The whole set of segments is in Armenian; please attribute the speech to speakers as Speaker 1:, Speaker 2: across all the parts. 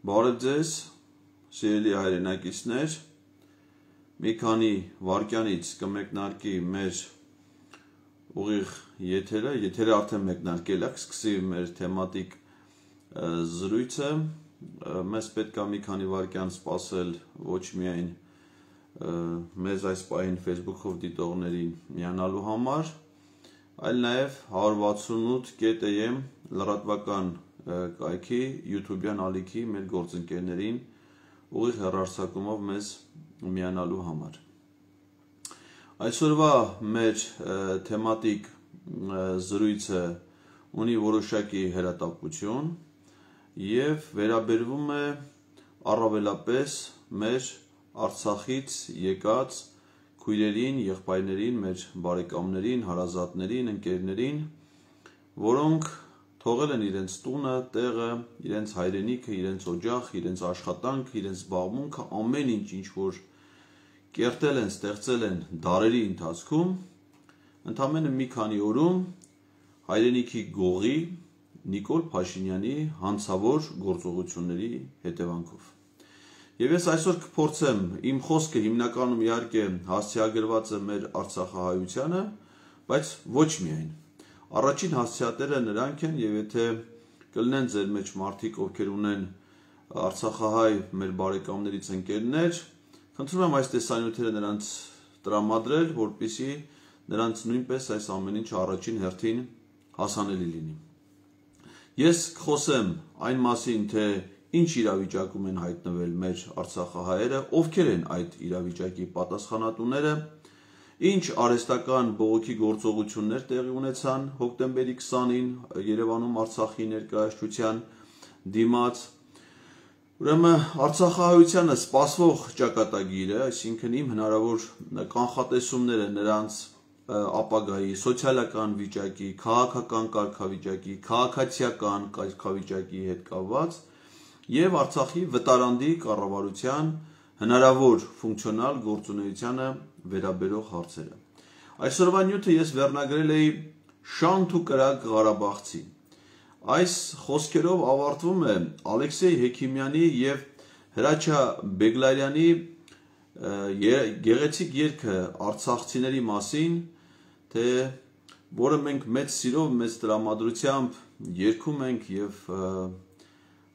Speaker 1: Բարև ձեզ, սիրելի հայրենակիցներ, մի քանի վայրկյանից կմեկնարկի մեր ուղիղ եթերը արդեն մեկնարկել է, կսկսի մեր թեմատիկ զրույցը, մեզ պետք է մի քանի վայրկյան սպասել ոչ միայն մեզ այս պահին Facebook-ով դիտողներին միանալու համար, այլ նաև 168.am լրատվական կայքի YouTube-յան ալիքի մեր գործընկերներին ուղիղ հեռարձակումով մեզ միանալու համար։ Այսօրվա մեր թեմատիկ զրույցը ունի որոշակի հերատապություն և վերաբերվում է առավելապես մեր Արցախից եկած քույրերին, եղբայրներին, մեր բարեկամներին, հարազատներին, ընկերներին, որոնք թողել են իրենց տունը, տեղը, իրենց հայրենիքը, իրենց օջախ, իրենց աշխատանք, իրենց զբաղմունքը, ամեն ինչ որ կերտել են, ստեղծել են դարերի ընթացքում, ընդամենը մի քանի օրում հայրենիքի գողի Նիկոլ Փաշինյանի հանցավոր գործողությունների հետևանքով։ Եվ ես այսօր կփորձեմ, իմ խոսքը հիմնականում իհարկե հասցեագրված է մեր արցախահայությանը, բայց ոչ միայն։ Առաջին հասցեատերը նրանք են, եւ եթե կլինեն ձեր մեջ մարդիկ, ովքեր ունեն արցախահայ մեր բարեկամներից ընկերներ, խնդրում եմ այս տեսանյութերը նրանց տրամադրել, որպեսզի նրանց նույնպես այս ամեն ինչը առաջին հերթին հասանելի լինի։ Ես կխոսեմ այն մասին, թե ինչ իրավիճակում են հայտնվել մեր արցախահայերը, ովքեր են այդ իրավիճակի պատասխանատուները, ինչ արհեստական բողոքի գործողություններ տեղի ունեցան հոկտեմբերի 20-ին Երևանում Արցախի ներկայացության դիմաց։ Ուրեմն արցախահայությանը սպասվող ճակատագիրը, այսինքն իմ հնարավոր կանխատեսումները նրանց ապագայի սոցիալական վիճակի, քաղաքական կարգավիճակի, քաղաքացիական կարգավիճակի հետ կապված եւ Արցախի վտարանդի կառավարության հնարավոր ֆունկցիոնալ գործունեությանը վերաբերող հարցերը։ Այսօրվա նյութը ես վերնագրել էի Շանթ ու կրակ Ղարաբաղցի։ Այս խոսքերով ավարտվում է Ալեքսեյ Հեքիմյանի եւ Հրաչյա Բեգլարյանի գեղեցիկ երգը արցախցիների մասին, թե որը մենք մեծ սիրով, մեծ տրամադրությամբ երգում ենք եւ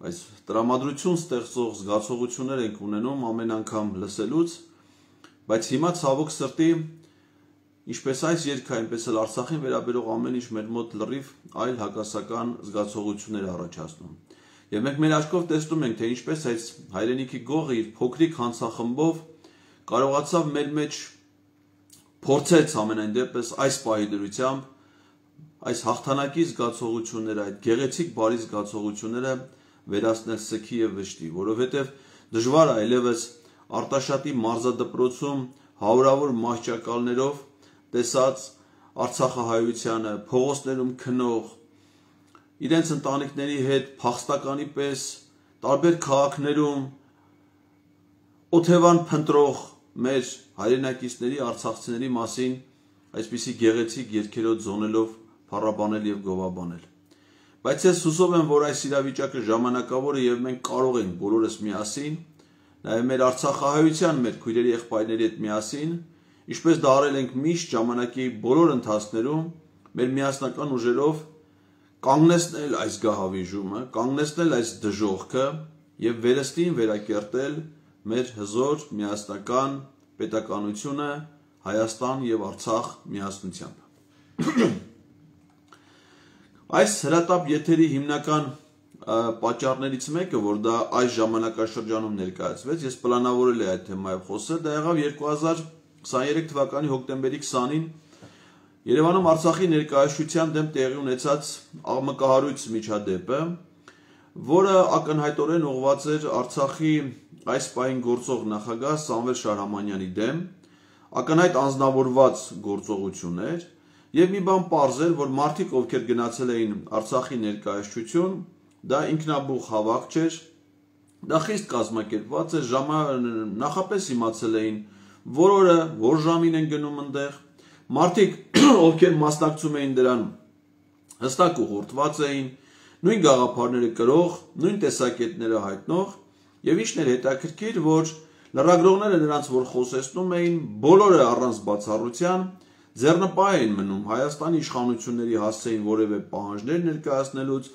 Speaker 1: այս տրամադրություն ստեղծող զգացողություններ ենք ունենում ամեն անգամ լսելուց, բայց հիմա ցավոք սրտի, ինչպես այս երգը, այնպես էլ Արցախին վերաբերող ամեն ինչ մեր մոտ լրիվ այլ հակասական զգացողություններ առաջացնում։ Եվ մենք մեր աչքով տեսնում ենք, թե ինչպես այս հայրենիքի գողը իր փոքրիկ հանցախմբով կարողացավ մեր մեջ փորձեց ամենայն դեպս այս պահի դրությամբ այս հաղթանակի զգացողությունները, այդ գեղեցիկ բարի զգացողությունները վերացնել սքի եւ վշտի, որովհետեւ դժվար է այլևս Արտաշատի մարզադպրոցում հարյուրավոր մահճակալներով տեսած արցախահայությանը, փողոցներում քնող, իրենց ընտանիքների հետ փախստականի պես տարբեր քաղաքներում օթևան փնտրող մեր հայրենակիցների, արցախցիների մասին այսպիսի գեղեցիկ երգերով զոնելով փառաբանել եւ գովաբանել։ Բայց ես հուսով եմ, որ այս իրավիճակը ժամանակավոր է եւ մենք կարող ենք բոլորս միասին, նաեւ մեր արցախահայության, մեր քույրերի եղբայրների հետ միասին, ինչպես դա արել ենք միշտ ժամանակի բոլոր ընթացքներում, մեր միասնական ուժերով կանգնեցնել այս գահավիժումը, կանգնեցնել այս դժոխքը եւ վերստին վերակերտել մեր հզոր միասնական պետականությունը Հայաստան եւ Արցախ միասնությամբ։ Այս հրատապ եթերի հիմնական պատճառներից մեկը, որ դա այս ժամանակաշրջանում ներկայացվեց, ես պլանավորել էի այդ թեմայով խոսել, դա եղավ 2023 թվականի հոկտեմբերի 20-ին Երևանում Արցախի ներկայացության դեմ տեղի ունեցած աղմկահարույց միջադեպը, որը ակնհայտորեն ուղղված էր Արցախի այս պահին գործող նախագահ Սամվել Շահրամանյանի դեմ, ակնհայտ անձնավորված գործողություններ եւ մի բան պարզ էր, որ մարդիկ, ովքեր գնացել էին Արցախի ներկայացություն, դա ինքնաբուխ հավաք չէր, դա խիստ կազմակերպված էր, նախապես իմացել էին, որ օրը, որ ժամին են գնում այնտեղ, մարդիկ, ովքեր մասնակցում էին դրան, հստակ ուղղորդված էին, նույն գաղափարները կրող, նույն տեսակետները հայտնող Եվ ինչն էր հետաքրքիր, որ լրագրողները նրանց որ խոսեցնում էին, բոլորը առանց բացառության ձեռնպահ էին մնում Հայաստանի իշխանությունների հասցեին որևէ պահանջներ ներկայացնելուց,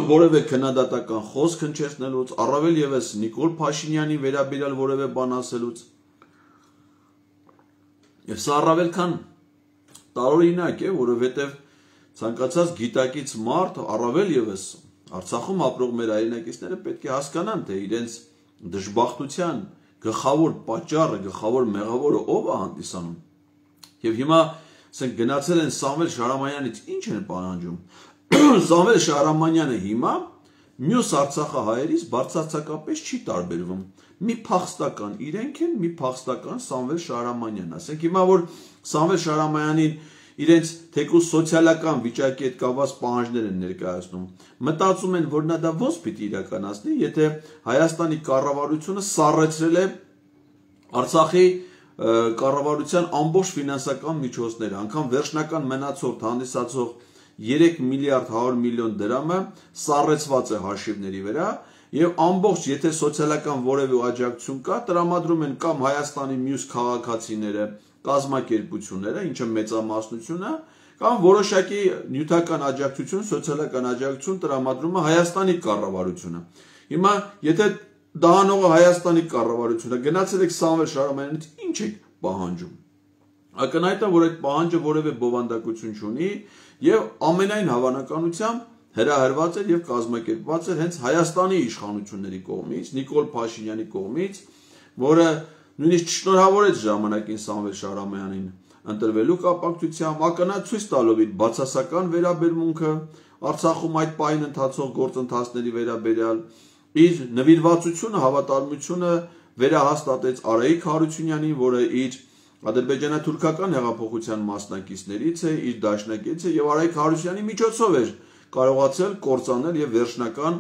Speaker 1: որևէ քննադատական խոսք հնչեցնելուց, առավել ևս Նիկոլ Փաշինյանի վերաբերյալ որևէ բան ասելուց։ Եվ սա առավել քան տարօրինակ է, որովհետև ցանկացած գիտակից մարդ, առավել ևս Արցախում ապրող մեր հայրենակիցները պետք է հասկանան, թե իրենց դժբախտության գլխավոր պատճառը, գլխավոր մեղավորը ով է հանդիսանում։ Եվ հիմա ասենք գնացել են Սամվել Շահրամանյանից ինչ են պահանջում։ Սամվել Շահրամանյանը հիմա մյուս արցախահայերից բարձրացակապես չի տարբերվում։ Մի փախստական իրենք են, մի փախստական Սամվել Շահրամանյան։ Ասենք հիմա որ Սամվել Շահրամանյանին իրենց թեկուզ սոցիալական վիճակի հետ կապված պահանջներ են ներկայացնում։ Մտածում են, որ նա դա ոնց պիտի իրականացնի, եթե Հայաստանի կառավարությունը սառեցրել է Արցախի կառավարության ամբողջ ֆինանսական միջոցները, անգամ վերջնական մնացորդ հանդիսացող 3 միլիարդ 100 միլիոն դրամը սառեցված է հաշիվների վրա, եւ ամբողջ եթե սոցիալական որևէ աջակցություն կա, տրամադրում են կամ Հայաստանի մյուս քաղաքացիները, կազմակերպությունները, ինչը մեծամասնություն է, կամ որոշակի նյութական աջակցություն, սոցիալական աջակցություն տրամադրում է Հայաստանի կառավարությունը։ Հիմա եթե դահանողը Հայաստանի կառավարությունը գնացել եք Սամվել Շահրամանյանից ինչ եք պահանջում։ Ակնհայտ է, որ այդ պահանջը որևէ բովանդակություն չունի եւ ամենայն հավանականությամբ հրահրված էր եւ կազմակերպված էր հենց Հայաստանի իշխանությունների կողմից, Նիկոլ Փաշինյանի կողմից, որը նույնիսկ շնորհավորեց ժամանակին Սամվել Շահրամանյանին ընտրվելու կապակցությամբ, ակնհայտ ցույց տալով իր բացասական վերաբերմունքը Արցախում այդ պահին ընթացող գործընթացների վերաբերյալ, իր նվիրվածությունը, հավատարմությունը վերահաստատեց Արայիկ Հարությունյանին, որը իր ադրբեջանա-թուրքական հեղափոխության մասնակիցներից է, իր դաշնակից է եւ Արայիկ Հարությունյանի միջոցով էր կարողացել կործանել եւ վերջնական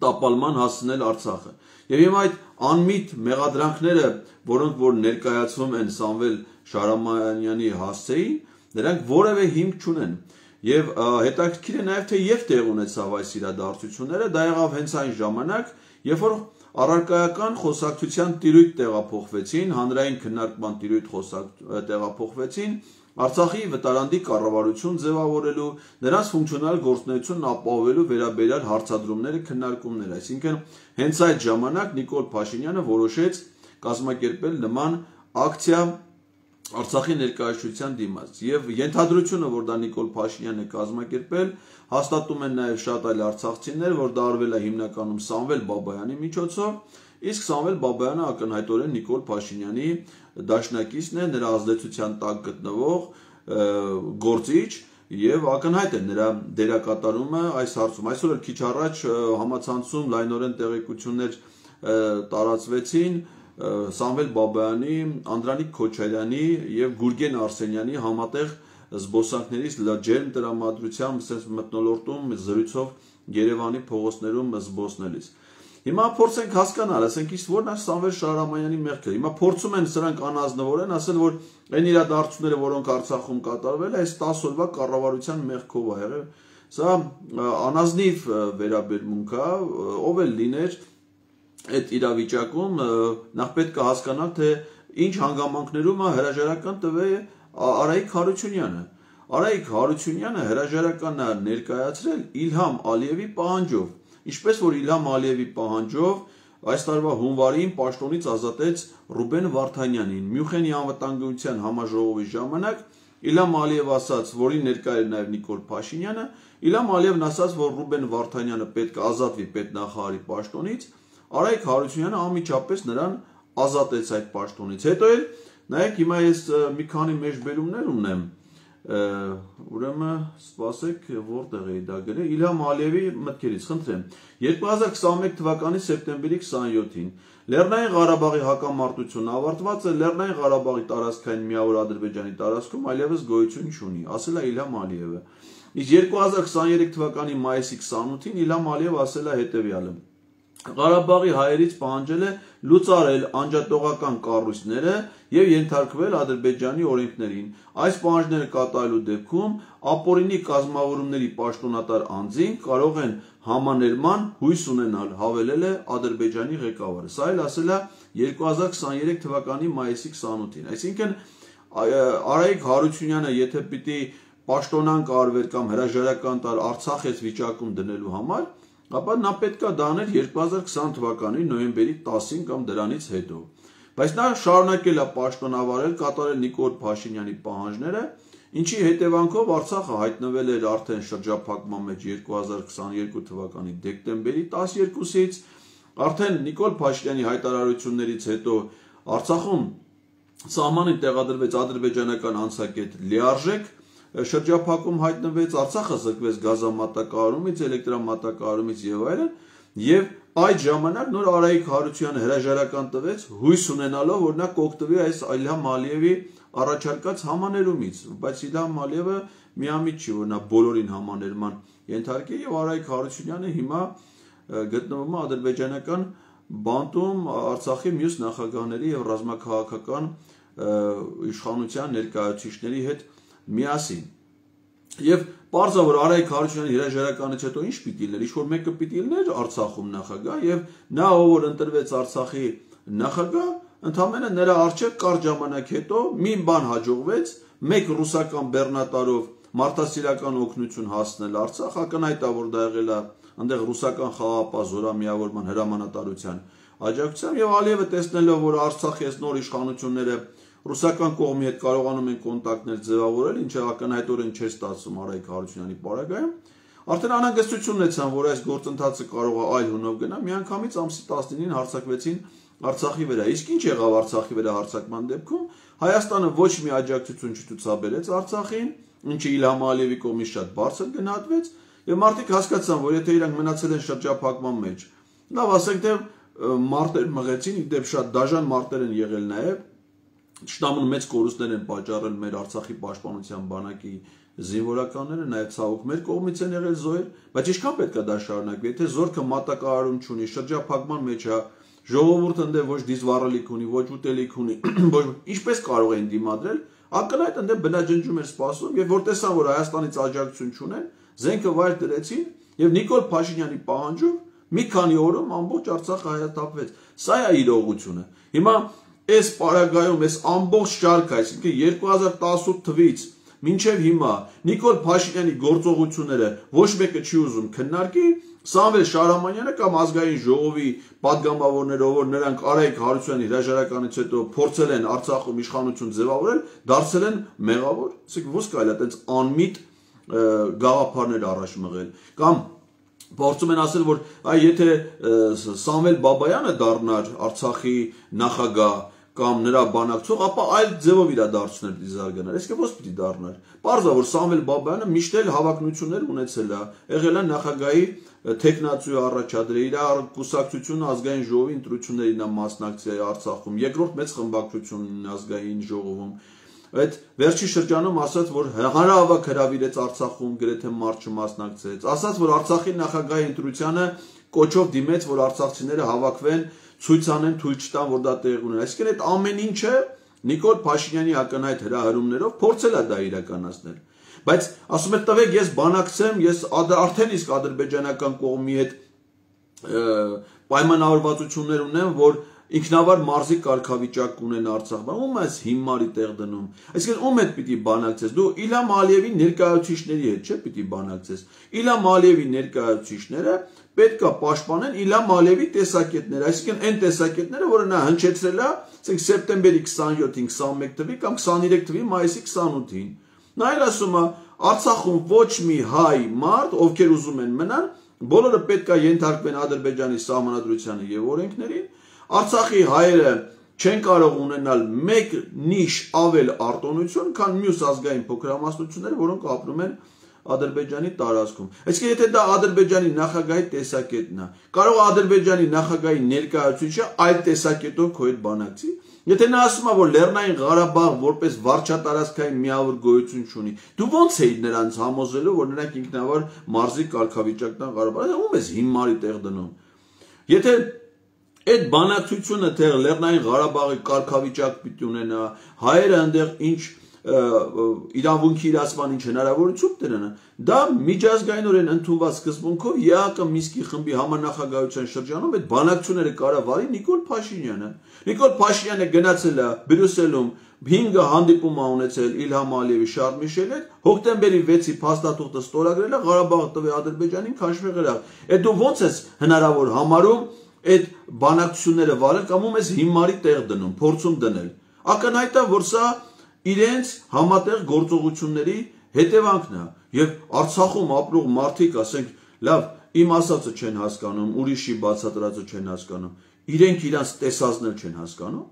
Speaker 1: տապալման հասցնել Արցախը։ Եվ հիմա այդ անմիտ մեղադրանքները, որոնք որ ներկայացվում են Սամվել Շահրամանյանի հասցեին, նրանք որևէ հիմք չունեն։ Եվ հետաքրքիր է նաեւ թե երբ տեղ ունեցավ այս իրադարձությունները, դա եղավ հենց այն ժամանակ, երբ որ առարկայական խոսակցության տիրույթ տեղափոխվեցին, հանրային քննարկման տիրույթ տեղափոխվեցին Արցախի վտարանդի կառավարություն ձևավորելու, նրանց ֆունկցիոնալ գործունեությունն ապահովելու վերաբերյալ հարցադրումները, քննարկումներ, այսինքն հենց այդ ժամանակ Նիկոլ Փաշինյանը որոշեց կազմակերպել նման ակցիա Արցախի ներկայացության դիմաց եւ ենթադրությունը, որ դա Նիկոլ Փաշինյանն է կազմակերպել, հաստատում են նաեւ շատ այլ արցախցիներ, որ դա արվել է հիմնականում Սամվել Բաբայանի միջոցով, իսկ Սամվել Բաբայանը ակնհայտորեն Նիկոլ Փաշինյանի դաշնակիցն է, նրա ազդեցության տակ գտնվող գործիչ եւ ակնհայտ է նրա դերակատարումը այս հարցում։ Այսօր էլ քիչ առաջ համացանցում լայնորեն տեղեկություններ տարածվեցին Սամվել Բաբայանի, Անդրանիկ Քոչարյանի եւ Գուրգեն Արսենյանի համատեղ զբոսանքներից ջերմ տրամադրությամբ մթնոլորտում զրույցով Երևանի փողոցներում զբոսնելիս։ Հիմա փորձենք հասկանալ, ասենք իսկ որն է Սամվել Շահրամանյանի մեղքը։ Հիմա փորձում են սրանք անազնվորեն ասել, որ այն իրադարձությունները, որոնք Արցախում կատարվել է, այս 10 օրվա կառավարության մեղքով է եղել։ Սա անազնիվ վերաբերմունք է, ով էլ լիներ այդ իրավիճակում, նախ պետք է հասկանալ, թե ինչ հանգամանքներում է հրաժարական տվել Արայիկ Հարությունյանը։ Արայիկ Հարությունյանը հրաժարականն է ներկայացրել Իլհամ Ալիևի պահանջով, ինչպես որ Իլհամ Ալիևի պահանջով այս տարվա հունվարին պաշտոնից ազատեց Ռուբեն Վարդանյանին։ Մյունխենի անվտանգության համաժողովի ժամանակ Իլհամ Ալիևը ասաց, որին ներկա էր նաև Նիկոլ Փաշինյանը, Իլհամ Ալիևն ասաց, որ Ռուբեն Վարդանյանը պետք է ազատվի պետնախարարի պաշտոնից, Արայիկ Հարությունյանը անմիջապես նրան ազատեց այդ պաշտոնից։ Հետո էլ նայեք հիմա ես մի քանի մեջբերումներ ունեմ, ուրեմն սպասեք որտեղ էի դա գրել Իլհամ Ալիևի մտքերից, խնդրեմ 2021 թվականի սեպտեմբերի 27-ին Լեռնային Ղարաբաղի հակամարտությունը ավարտված է, Լեռնային Ղարաբաղի տարածքային միավոր Ադրբեջանի տարածքում այլևս գոյություն չունի, ասել է Իլհամ Ալիևը։ Իսկ 2023 թվականի մայիսի 28-ին Իլհամ Ալիևը ասել է հետևյալը. Ղարաբաղի հայերից պահանջել է լուծարել անջատողական կառույցները եւ ենթարկվել Ադրբեջանի օրենքներին։ Այս պահանջները կատարելու դեպքում ապօրինի կազմավորումների պաշտոնատար անձին կարող են համաներման հույս ունենալ, հավելել է Ադրբեջանի ղեկավարը։ Սա էլ ասել է 2023 թվականի մայիսի 28-ին։ Այսինքն Արայիկ Հարությունյանը եթե պիտի պաշտոնանկ արվեր կամ հրաժարական տար Արցախից վիճակում դնելու համար, ապա նա պետք է դա աներ 2020 թվականի նոյեմբերի 10-ին կամ դրանից հետո։ Բայց նա շարունակել է պաշտոնավարել, կատարել Նիկոլ Փաշինյանի պահանջները, ինչի հետևանքով Արցախը հայտնվել էր արդեն շրջափակման մեջ 2022 թվականի դեկտեմբերի 12-ից, արդեն Նիկոլ Փաշինյանի հայտարարություններից հետո Արցախում սահմանին տեղադրվեց ադրբեջանական անցակետ լիարժեք, շրջափակում հայտնվեց, Արցախը զրկվեց գազամատակարարումից, էլեկտրամատակարարումից եւ այլն, եւ այդ ժամանակ նոր Արայիկ Հարությունյանը հրաժարական տվեց, հույս ունենալով, որ նա կօգտվի այս Իլհամ Ալիևի առաջարկած համաներումից, բայց Իլհամ Ալիևը միամիտ չի, որ նա բոլորին համաներման ենթարկի եւ Արայիկ Հարությունյանը հիմա գտնվում է ադրբեջանական բանտում Արցախի մյուս նախագահների եւ ռազմաքաղաքական իշխանության ներկայացուցիչների հետ միասին։ Եվ պարզա որ Արայիկ Հարությունյանի հրաժարականից հետո ինչ պիտի լիներ, ինչ որ մեկը պիտի լիներ Արցախում նախագահ եւ նա ով որ ընտրվեց Արցախի նախագահ, ընդամենը նրա արժեք կարճ ժամանակ հետո մի բան հաջողվեց, մեկ ռուսական բեռնատարով մարդասիրական օգնություն հասնել Արցախ, ակնհայտ է որ դա եղել է այնտեղ ռուսական խաղապահ զորամիավորման հրամանատարության աջակցությամբ եւ Ալիևը տեսնելով որ Արցախի այս նոր իշխանությունները ռուսական կողմի հետ կարողանում են կոնտակտներ ձևավորել, ինչը ակնհայտորեն չէր ստացվում Արայիկ Հարությունյանի պարագայում, արդեն անհանգստություն ունեցան, որ այս գործընթացը կարող է այլ հունով գնա, միանգամից ամսի 19-ին հարձակվեցին Արցախի վրա։ Իսկ ինչ եղավ Արցախի վրա հարձակման դեպքում, Հայաստանը ոչ մի աջակցություն չցուցաբերեց Արցախին, ինչը Իլհամ Ալիևի կողմից շատ բարձր գնահատվեց, եւ մարդիկ հասկացան, որ եթե իրանք մնացել են շրջափակման մեջ, լավ ասենք թե մարտեր մղեցին, իդեպ շատ դաժան մարտեր են եղել նաեւ Շտամուն մեծ կորուստներ են պատճառել մեր Արցախի պաշտպանության բանակի զինվորականները, նաև ցավոք մեր կողմից են եղել զոհեր, բայց ինչքան պետք է դա շարունակվի, եթե զորքը մատակարարում չունի, շրջափակման մեջ է, ժողովուրդը ընդե ոչ դիզվառելիք ունի, ոչ ուտելիք ունի, ոչ ինչպես կարող են դիմադրել, ակնհայտ ընդե բնաջնջում էր սպասում, եւ որ տեսան, որ Հայաստանից աջակցություն չունեն, զենքը վայր դրեցին եւ Նիկոլ Փաշինյանի պահանջով մի քանի օրում ամբողջ Արցախը հայաթափվեց։ Սա է իրողությունը։ Հիմա այս պարագայում այս ամբողջ շարքը, այսինքն 2018 թվից մինչև հիմա Նիկոլ Փաշինյանի գործողությունները ոչ մեկը չի ուզում քննարկի, Սամվել Շահրամանյանը կամ ազգային ժողովի падգամավորները, որ նրանք Արայիկ Հարությունյանի հրաժարականից հետո փորձել են Արցախում իշխանություն ձևավորել, դարձել են մեղավոր, ասենք ո՞ս կարելի է այդպես անմիտ գաղափարներ առաջ մղել, կամ փորձում են ասել, որ եթե Սամվել Բաբայանը դառնար Արցախի նախագահ կամ նրա բանակցող, ապա այլ ձևով իրադարձություններ պիտի զարգանար։ Իսկ ո՞ս պիտի դառնար։ Պարզա որ Սամվել Բաբայանը միշտ էլ հավակնություններ ունեցել է, եղել է նախագահի տեխնացու առաջադրել, իր կուսակցությունը ազգային ժողովի ընտրություններին է մասնակցել Արցախում, երկրորդ մեծ խմբակցությունն ազգային ժողովում։ Այդ վերջի շրջանում ասաց, որ հանրահավաք հրավիրեց Արցախում, գրեթե մարդ չմասնակցեց, ասաց, որ Արցախի նախագահի ընտրությանը կոչով դիմեց, որ արցախցիները հավաքվեն, ցույց անեն, թույլ չտան, որ դա տեղի ունենա։ Այսինքն այդ ամեն ինչը Նիկոլ Փաշինյանի ակնհայտ հրահրումներով փորձել է դա իրականացնել։ Բայց ասում է տվեք ես բանակցեմ, ես արդեն իսկ ադրբեջանական կողմի հետ պայմանավորվածություններ ունեմ, որ ինքնավար մարզի կարգավիճակ ունեն Արցախում, ում ես հիմարի տեղ դնում։ Այսինքն ում հետ պիտի բանակցես։ Դու Իլհամ Ալիևի ներկայացուցիչների հետ չէ՞ պիտի բանակցես։ Իլհամ Ալիևի ներկայացուցիչները պետք է պաշտպանեն Իլհամ Ալիևի տեսակետները, այսինքն այն տեսակետները, որը նա հնչեցրել է, ասենք սեպտեմբերի 27-ին, 21 թվի կամ 23 թվի մայիսի 28-ին։ Նա էլ ասում է, Արցախում ոչ մի հայ մարդ, ովքեր ուզում են մնան, բոլորը պետք է ենթարկվեն Ադրբեջանի սահմանադրությանը եւ օրենքներին։ Արցախի հայերը չեն կարող ունենալ մեկ նիշ ավել արտոնություն, քան մյուս ազգային փոքրամասնությունները, որոնք ապրում են Ադրբեջանի տարածքում։ Այսինքն եթե դա Ադրբեջանի նախագահի տեսակետն է, կարող է Ադրբեջանի նախագահի ներկայացուցիչը այլ տեսակետով քո հետ բանակցի։ Եթե նա ասում է, որ Լեռնային Ղարաբաղ որպես վարչատարածքային միավոր գոյություն չունի, դու ո՞նց էիր նրանց համոզելու, որ նրանք ինքնավար մարզի կարգավիճակն են Ղարաբաղը, ում ես հիմարի տեղ դնում։ Եթե այդ բանակցությունը թե Լեռնային Ղարաբաղի կարգավիճակ պիտի ունենա, հայերը այնտեղ ինչ իրավունքի իրացման ինչ հնարավորություն դրան, դա միջազգայինորեն ընդունված սկզբունքով ԵԱՀԿ Մինսկի խմբի համանախագահության շրջանում այդ բանակցությունները կառավարի Նիկոլ Փաշինյանը։ Նիկոլ Փաշինյանը գնացել է Բրյուսելում 5 հանդիպում ա ունեցել Իլհամ Ալիևի Շարլ Միշելի հետ, հոկտեմբերի 6-ի փաստաթուղթը ստորագրել է, Ղարաբաղը տվել Ադրբեջանին, քաշվել գնալ։ Այդ դու ո՞նց ես հնարավոր համարում այդ բանակցությունները վարել կամ ում ես հիմարի տեղ դնում, փորձում դնել։ Ակնհայտ է, որ սա իրենց համատեղ գործողությունների հետևանքն է, եւ Արցախում ապրող մարդիկ, ասենք, լավ, իմ ասածը չեն հասկանում, ուրիշի բացատրածը չեն հասկանում, իրենք իրանց տեսածն չեն հասկանում,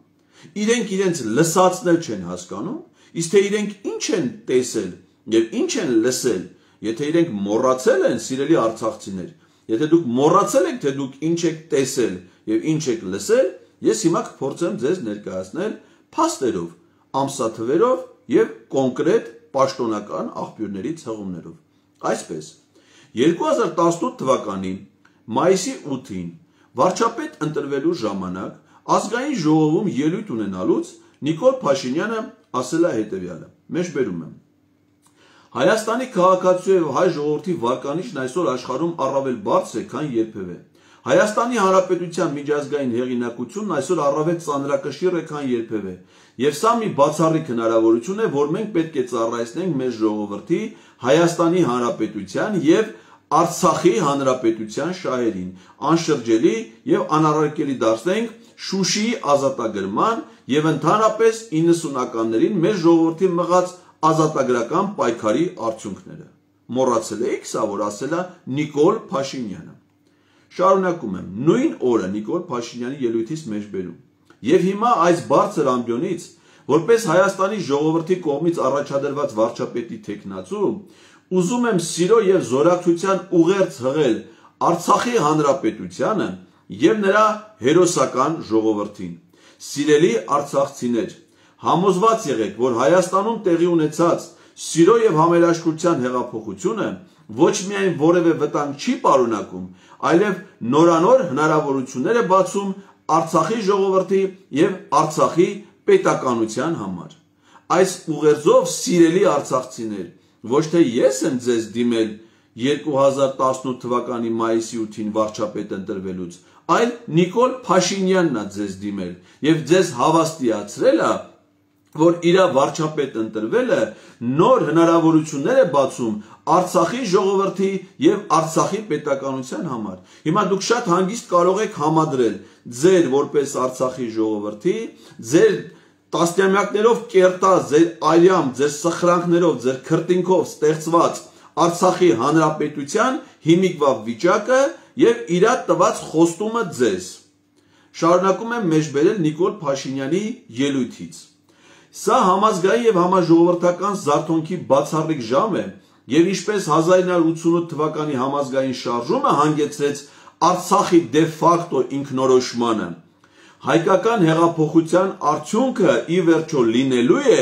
Speaker 1: իրենք իրենց լսածն չեն հասկանում, իսկ թե իրենք ինչ են տեսել եւ ինչ են լսել, եթե իրենք մոռացել են, սիրելի արցախցիներ, եթե դուք մոռացել եք, թե դուք ինչ եք տեսել եւ ինչ եք լսել, ես հիմա կփորձեմ ձեզ ներկայացնել փաստերով, ամսաթվերով եւ կոնկրետ պաշտոնական աղբյուրների ցեղումներով։ Այսպես 2018 թվականի մայիսի 8-ին վարչապետ ընտրվելու ժամանակ ազգային ժողովում ելույթ ունենալուց Նիկոլ Փաշինյանը ասել է հետևյալը. Մեջբերում եմ. Հայաստանի քաղաքացու եւ հայ ժողովրդի վարկանիշն այսօր աշխարհում առավել բարձր է, քան երբևէ։ Հայաստանի Հանրապետության միջազգային հեղինակությունն այսօր առավել ծանրակշիռ է, քան երբևէ։ Եվ սա մի բացառիկ հնարավորություն է, որ մենք պետք է ծառայեցնենք մեր ժողովրդի, Հայաստանի Հանրապետության եւ Արցախի Հանրապետության շահերին, անշրջելի եւ անառարկելի դարձնենք Շուշիի ազատագրման եւ ընդհանրապես 90-ականներին մեր ժողովրդի մղած ազատագրական պայքարի արդյունքները։ Մոռացել եք սա, որ ասել է Նիկոլ Փաշինյանը։ Շարունակում եմ, նույն օրը Նիկոլ Փաշինյանի ելույթից մեջբերում։ Եվ հիմա այս բարձր ամբիոնից, որպես Հայաստանի ժողովրդի կողմից առաջադրված վարչապետի թեկնածու, ուզում եմ սիրո եւ զորակցության ուղերձ հղել Արցախի Հանրապետությանը եւ նրա հերոսական ժողովրդին։ Սիրելի արցախցիներ, համոզված եղեք, որ Հայաստանում տեղի ունեցած սիրո եւ համերաշխության հեղափոխությունը ոչ միայն որևէ վտանգ չի պարունակում, այլև նորանոր հնարավորություններ է բացում Արցախի ժողովրդի եւ Արցախի պետականության համար։ Այս ուղերձով, սիրելի արցախցիներ, ոչ թե ես եմ ձեզ դիմել 2018 թվականի մայիսի 8-ին վարչապետ ընտրվելուց, այլ Նիկոլ Փաշինյանն է ձեզ դիմել եւ ձեզ հավաստիացրել է, որ իր վարչապետ ընտրվելը նոր հնարավորություններ է բացում Արցախի ժողովրդի եւ Արցախի պետականության համար։ Հիմա դուք շատ հանգիստ կարող եք համադրել ձեր որպես Արցախի ժողովրդի, ձեր տասնամյակներով կերտած, ձեր արյամ, ձեր սխրանքներով, ձեր քրտինքով ստեղծված Արցախի Հանրապետության հիմիկվա վիճակը եւ իր տված խոստումը ձեզ։ Շարունակում եմ մեջբերել Նիկոլ Փաշինյանի ելույթից։ Սա համազգային եւ համաժողովրդական զարթոնքի բացառիկ ժամ է եւ ինչպես 1988 թվականի համազգային շարժումը հանգեցրեց Արցախի դե ֆակտո ինքնորոշմանը, հայկական հեղափոխության արդյունքը ի վերջո լինելու է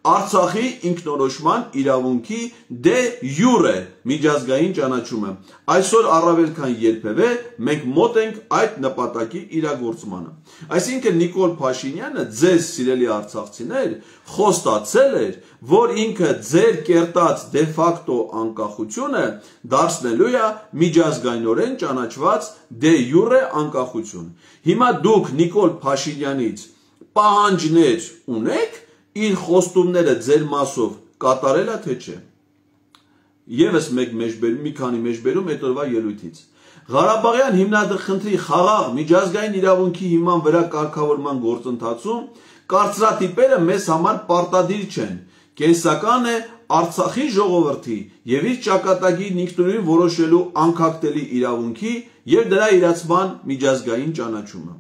Speaker 1: Արցախի ինքնորոշման իրավունքի դե յուրե միջազգային ճանաչումը։ Այսօր առավել քան երբևէ մենք մոտ ենք այդ նպատակի իրագործմանը։ Այսինքն Նիկոլ Փաշինյանը, ձեզ սիրելի արցախցիներ, խոստացել էր, որ ինքը ձեր կերտած դե ֆակտո անկախությունը դարձնելու է միջազգայինորեն ճանաչված դե յուրե անկախություն։ Հիմա դուք Նիկոլ Փաշինյանից պահանջներ ունեք իր խոստումները ձեր մասով կատարել է թե չէ։ Եվս մեկ մեջբերում, մի քանի մեջբերում այդ օրվա ելույթից։ Ղարաբաղյան հիմնադրխնդրի խաղաղ միջազգային իրավունքի հիման վրա կարգավորման գործընթացում կարծրատիպերը մեզ համար պարտադիր չեն։ Կենսական է Արցախի ժողովրդի եւ իր ճակատագիրն ինքնուրույն որոշելու անկախտելի իրավունքի եւ դրա իրացման միջազգային ճանաչումը։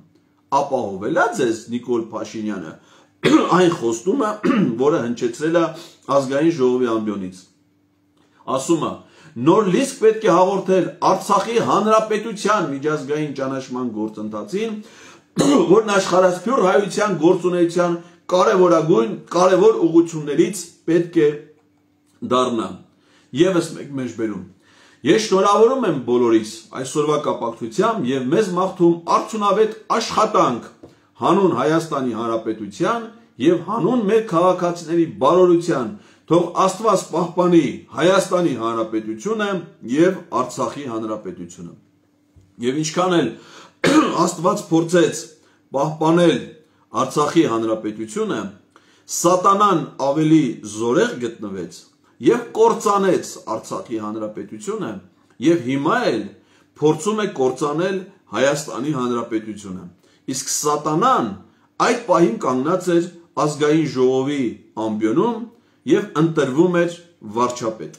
Speaker 1: Ապահովել է ձեզ Նիկոլ Փաշինյանը այն խոստումը, որը հնչեցրել է ազգային ժողովի ամբիոնից։ Ասում է, նոր լիսկ պետք է հաղորդել Արցախի Հանրապետության միջազգային ճանաչման գործընթացին, որն աշխարհասփյուռ հայության գործունեության կարևոր ուղղություններից պետք է դառնա։ Եվս մեկ մեջբերում։ Ես շնորհավորում եմ բոլորիս այսօրվա կապակցությամբ եւ մեզ մաղթում արդյունավետ աշխատանք հանուն Հայաստանի Հանրապետության եւ հանուն մեր քաղաքացիների բարօրության, թող Աստված պահպանի Հայաստանի Հանրապետությունը եւ Արցախի Հանրապետությունը։ Եվ ինչքան էլ Աստված փորձեց պահպանել Արցախի Հանրապետությունը, սատանան ավելի զորեղ գտնվեց եւ կործանեց Արցախի Հանրապետությունը եւ հիմա էլ փորձում է կործանել Հայաստանի Հանրապետությունը։ Իսկ սատանան այդ պահին կանգնած էր ազգային ժողովի ամբիոնում եւ ընտրվում էր վարչապետ։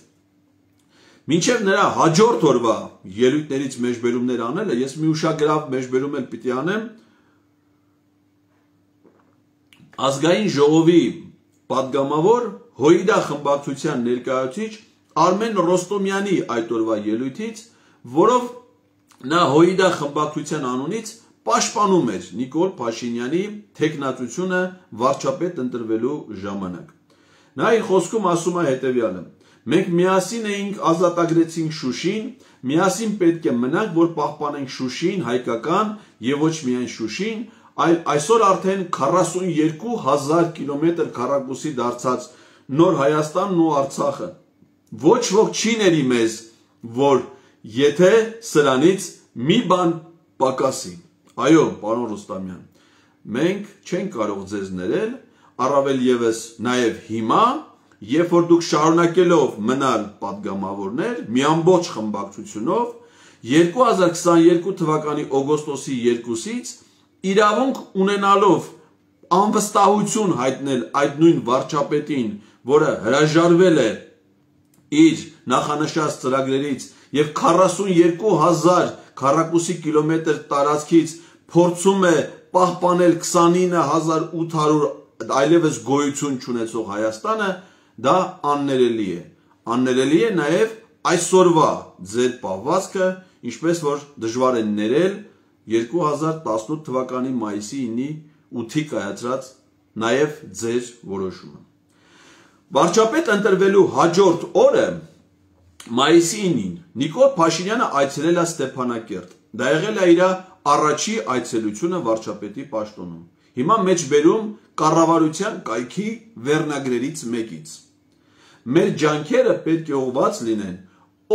Speaker 1: Մինչև նրա հաջորդ օրվա ելույթներից մեջբերումներ անելը, ես մի ուշագրավ մեջբերում էլ պիտի անեմ ազգային ժողովի պատգամավոր Հոիդա խմբակցության ներկայացուցիչ Արմեն Ռոստոմյանի այդ օրվա ելույթից, որով նա Հոիդա խմբակցության անունից պաշտպանում էր Նիկոլ Փաշինյանի թեկնածությունը վարչապետ ընտրվելու ժամանակ։ Նա իր խոսքում ասում է հետևյալը. մենք միասին էինք ազատագրեցինք Շուշին, միասին պետք է մնանք, որ պահպանենք Շուշին, հայկական եւ ոչ միայն Շուշին, այլ այսօր արդեն 42,000 կիլոմետր քառակուսի դարձած նոր Հայաստանն ու Արցախը։ Ոչ ոք չի ների մեզ, որ եթե սրանից մի բան պակասի։ Այո, պարոն Ռուստամյան, մենք չենք կարող ձեզ ներել, առավել եւս նաեւ հիմա, երբ որ դուք շարունակելով մնալ պատգամավորներ, մի ամբողջ խմբակցությունով 2022 թվականի օգոստոսի 2-ից իրավունք ունենալով անվստահություն հայտնել այդ նույն վարչապետին, որը հրաժարվել է իր նախանշած ծրագրերից եւ 42,000 քառակուսի կիլոմետր տարածքից փորձում է պահպանել 29,800 այլևս գոյություն չունեցող Հայաստանը, դա աններելի է։ Աններելի է նաև այսօրվա ձեր պահվածքը, ինչպես որ դժվար է ներել 2018 թվականի մայիսի 9-ի կայացրած նաև ձեր որոշումը։ Վարչապետ ընտրվելու հաջորդ օրը մայիսի 9-ին Նիկոլ Փաշինյանը այցելել է Ստեփանակերտ։ Դա եղել է իր առաջի այցելությունը վարչապետի պաշտոնում։ Հիմա մեջբերում կառավարության կայքի վերնագրերից մեկից։ Մեր ջանքերը պետք է ուղղված լինեն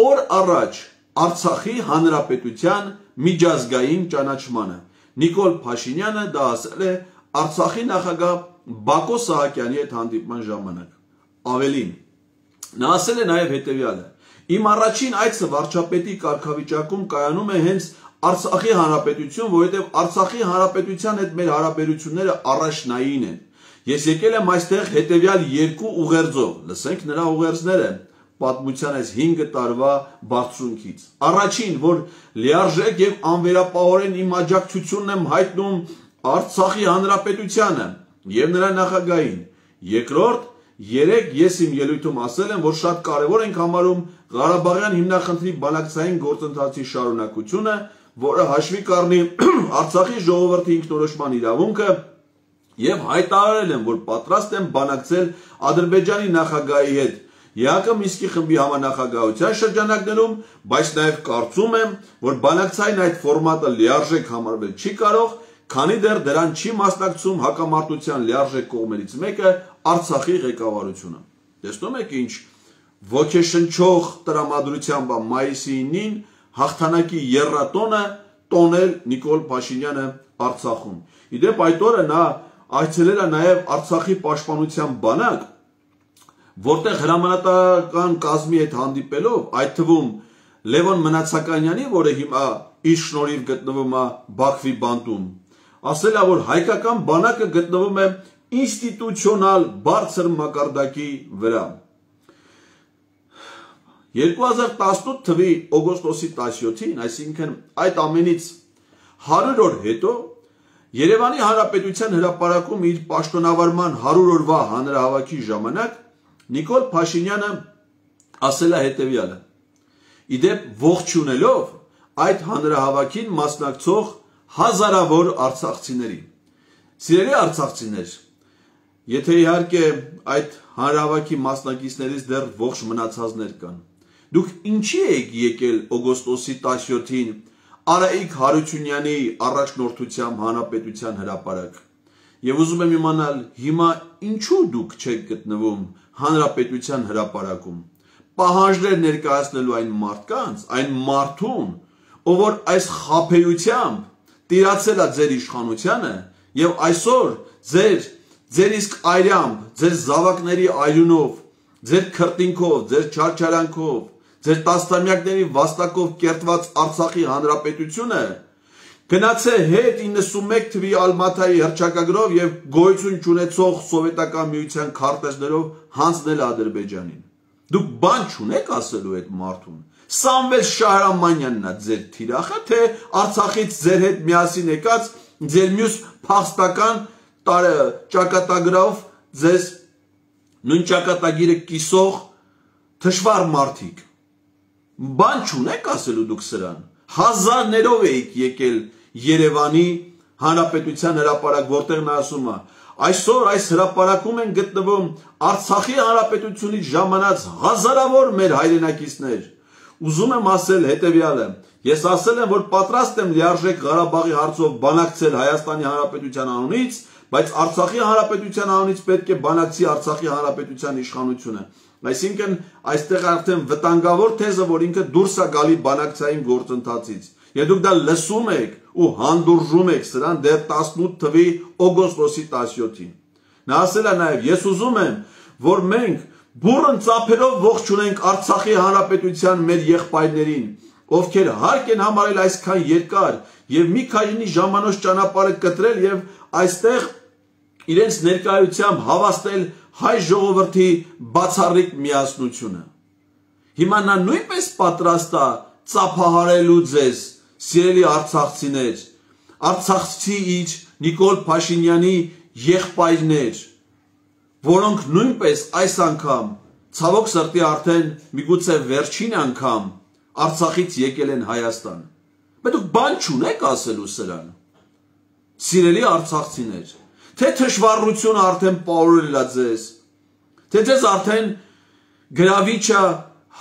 Speaker 1: օր առաջ Արցախի Հանրապետության միջազգային ճանաչմանը։ Նիկոլ Փաշինյանը դա ասել է Արցախի նախագահ Բակո Սահակյանի հետ հանդիպման ժամանակ։ Ավելին, նա ասել է նաև հետևյալը. Իմ առաջին այցը վարչապետի կարգավիճակում կայանում է հենց Արցախի Հանրապետություն, որովհետև Արցախի Հանրապետության հետ մեր հարաբերությունները առաջնային են։ Ես եկել եմ այստեղ հետևյալ երկու ուղերձով, լսենք նրա ուղերձները պատմության այս 5 տարվա բարձունքից։ Առաջին, որ լիարժեք եւ անվերապահորեն իմ աջակցությունն եմ հայտնում Արցախի Հանրապետությանը եւ նրա նախագահին։ Երկրորդ, երեք ես իմ ելույթում ասել եմ, որ շատ կարևոր ենք համարում Ղարաբաղյան հիմնախնդրի բանակցային գործընթացի շարունակությունը, որը հաշվի կառնի Արցախի ժողովրդի ինքնորոշման իրավունքը եւ հայտարարել եմ, որ պատրաստ եմ բանակցել Ադրբեջանի նախագահի հետ ԵԱԿ Մինսկի խմբի համանախագահության շրջանակներում, բայց նաեւ կարծում եմ, որ բանակցային այդ ֆորմատը լիարժեք համարվել չի կարող, քանի դեռ դրան չի մասնակցում հակամարտության լիարժեք կողմերից մեկը Արցախի ղեկավարությունը։ Տեսնում եք ինչ ոգեշնչող տրամադրությամբ մայիսի 9-ին հաղթանակի եռատոնը տոնել Նիկոլ Փաշինյանը Արցախում։ Իդեպ այդ օրը նա այցելել է նաև Արցախի պաշտպանության բանակ, որտեղ հրամանատարական կազմի հետ հանդիպելով, այդ թվում Լևոն Մնացականյանի, որը հիմա իր շնորհիվ գտնվում է Բաքվի բանտում, ասել է, որ հայկական բանակը գտնվում է ինստիտուցիոնալ բարձր մակարդակի վրա։ 2018 թվականի օգոստոսի 17-ին, այսինքն այդ ամենից 100 օր հետո, Երևանի Հանրապետության հրապարակում իր պաշտոնավարման 100 օրվա հանրահավաքի ժամանակ Նիկոլ Փաշինյանը ասել է հետևյալը. Իդեպ ողջունելով այդ հանրահավաքին մասնակցող հազարավոր արցախցիների։ Սիրելի արցախցիներ, եթե իհարկե այդ հանրահավաքի մասնակիցներից դեռ ողջ մնացածներ կան, Դուք ինչի եք եկել օգոստոսի 17-ին Արայիկ Հարությունյանի առաջնորդությամբ Հանրապետության հրապարակ։ Եվ ուզում եմ իմանալ հիմա ինչու դուք չեք գտնվում Հանրապետության հրապարակում։ Պահանջներ ներկայացնելու այն մարդկանց, այն մարդուն, ով որ այս խաբեությամբ տիրացել է ձեր իշխանությանը եւ այսօր ձեր իսկ այրամբ, ձեր զավակների այրունով, ձեր քրտինքով, ձեր չարչարանքով, ձեր տասնամյակների վաստակով կերտված Արցախի հանրապետությունը գնացե հետ 91 թվի Ալմաթայի հռչակագրով եւ գոյություն չունեցող սովետական միության քարտեզներով հանձնել Ադրբեջանին։ Դուք բան չունեք ասելու այդ մարդուն։ Սամվել Շահրամանյանն է ձեր թիրախը, թե Արցախից ձեր հետ միասին եկած ձեր մյուս փախստական ճակատագրով ձեզ նույն ճակատագիրը կիսող թշվառ մարդիկ։ Բան չունեք ասելու դուք սրան։ Հազարներով եք եկել Երևանի Հանրապետության հրապարակ, որտեղ նա ասում է. այսօր այս հրապարակում են գտնվում Արցախի հանրապետությունից ժամանած հազարավոր մեր հայրենակիցներ։ Ուզում եմ ասել հետևյալը. ես ասել եմ, որ պատրաստ եմ լիարժեք Ղարաբաղի հարցով բանակցել Հայաստանի Հանրապետության անունից, բայց Արցախի հանրապետության անունից պետք է բանակցի Արցախի հանրապետության իշխանությունը։ Այսինքն այստեղ արդեն վտանգավոր թեզը, որ ինքը դուրս է գալի բանակցային գործընթացից։ Եվ դուք դա լսում եք ու հանդուրժում եք սրան դեռ 18 թվի օգոստոսի 17-ին։ Նա ասել է նաև. ես ուզում եմ, որ մենք բուռն ծափերով ողջունենք Արցախի հանրապետության մեր եղբայրներին, ովքեր հարկ են համարել այսքան երկար եւ մի քանի ժամանոց ճանապարհը կտրել եւ այստեղ իրենց ներկայությամբ հավաստել հայ ժողովրդի բացառիկ միասնությունը։ Հիմա նա նույնպես պատրաստ է ծափահարելու ձեզ, սիրելի արցախցիներ, Արցախցի իր Նիկոլ Փաշինյանի եղբայրներ, որոնք նույնպես այս անգամ, ցավոք սրտի արդեն միգուցե վերջին անգամ Արցախից եկել են Հայաստան։ Բայց դուք բան չունեք ասելու սրան։ Սիրելի արցախցիներ, թե թշվառությունը արդեն պարուրել է ձեզ, թե ձեզ արդեն գրավիչը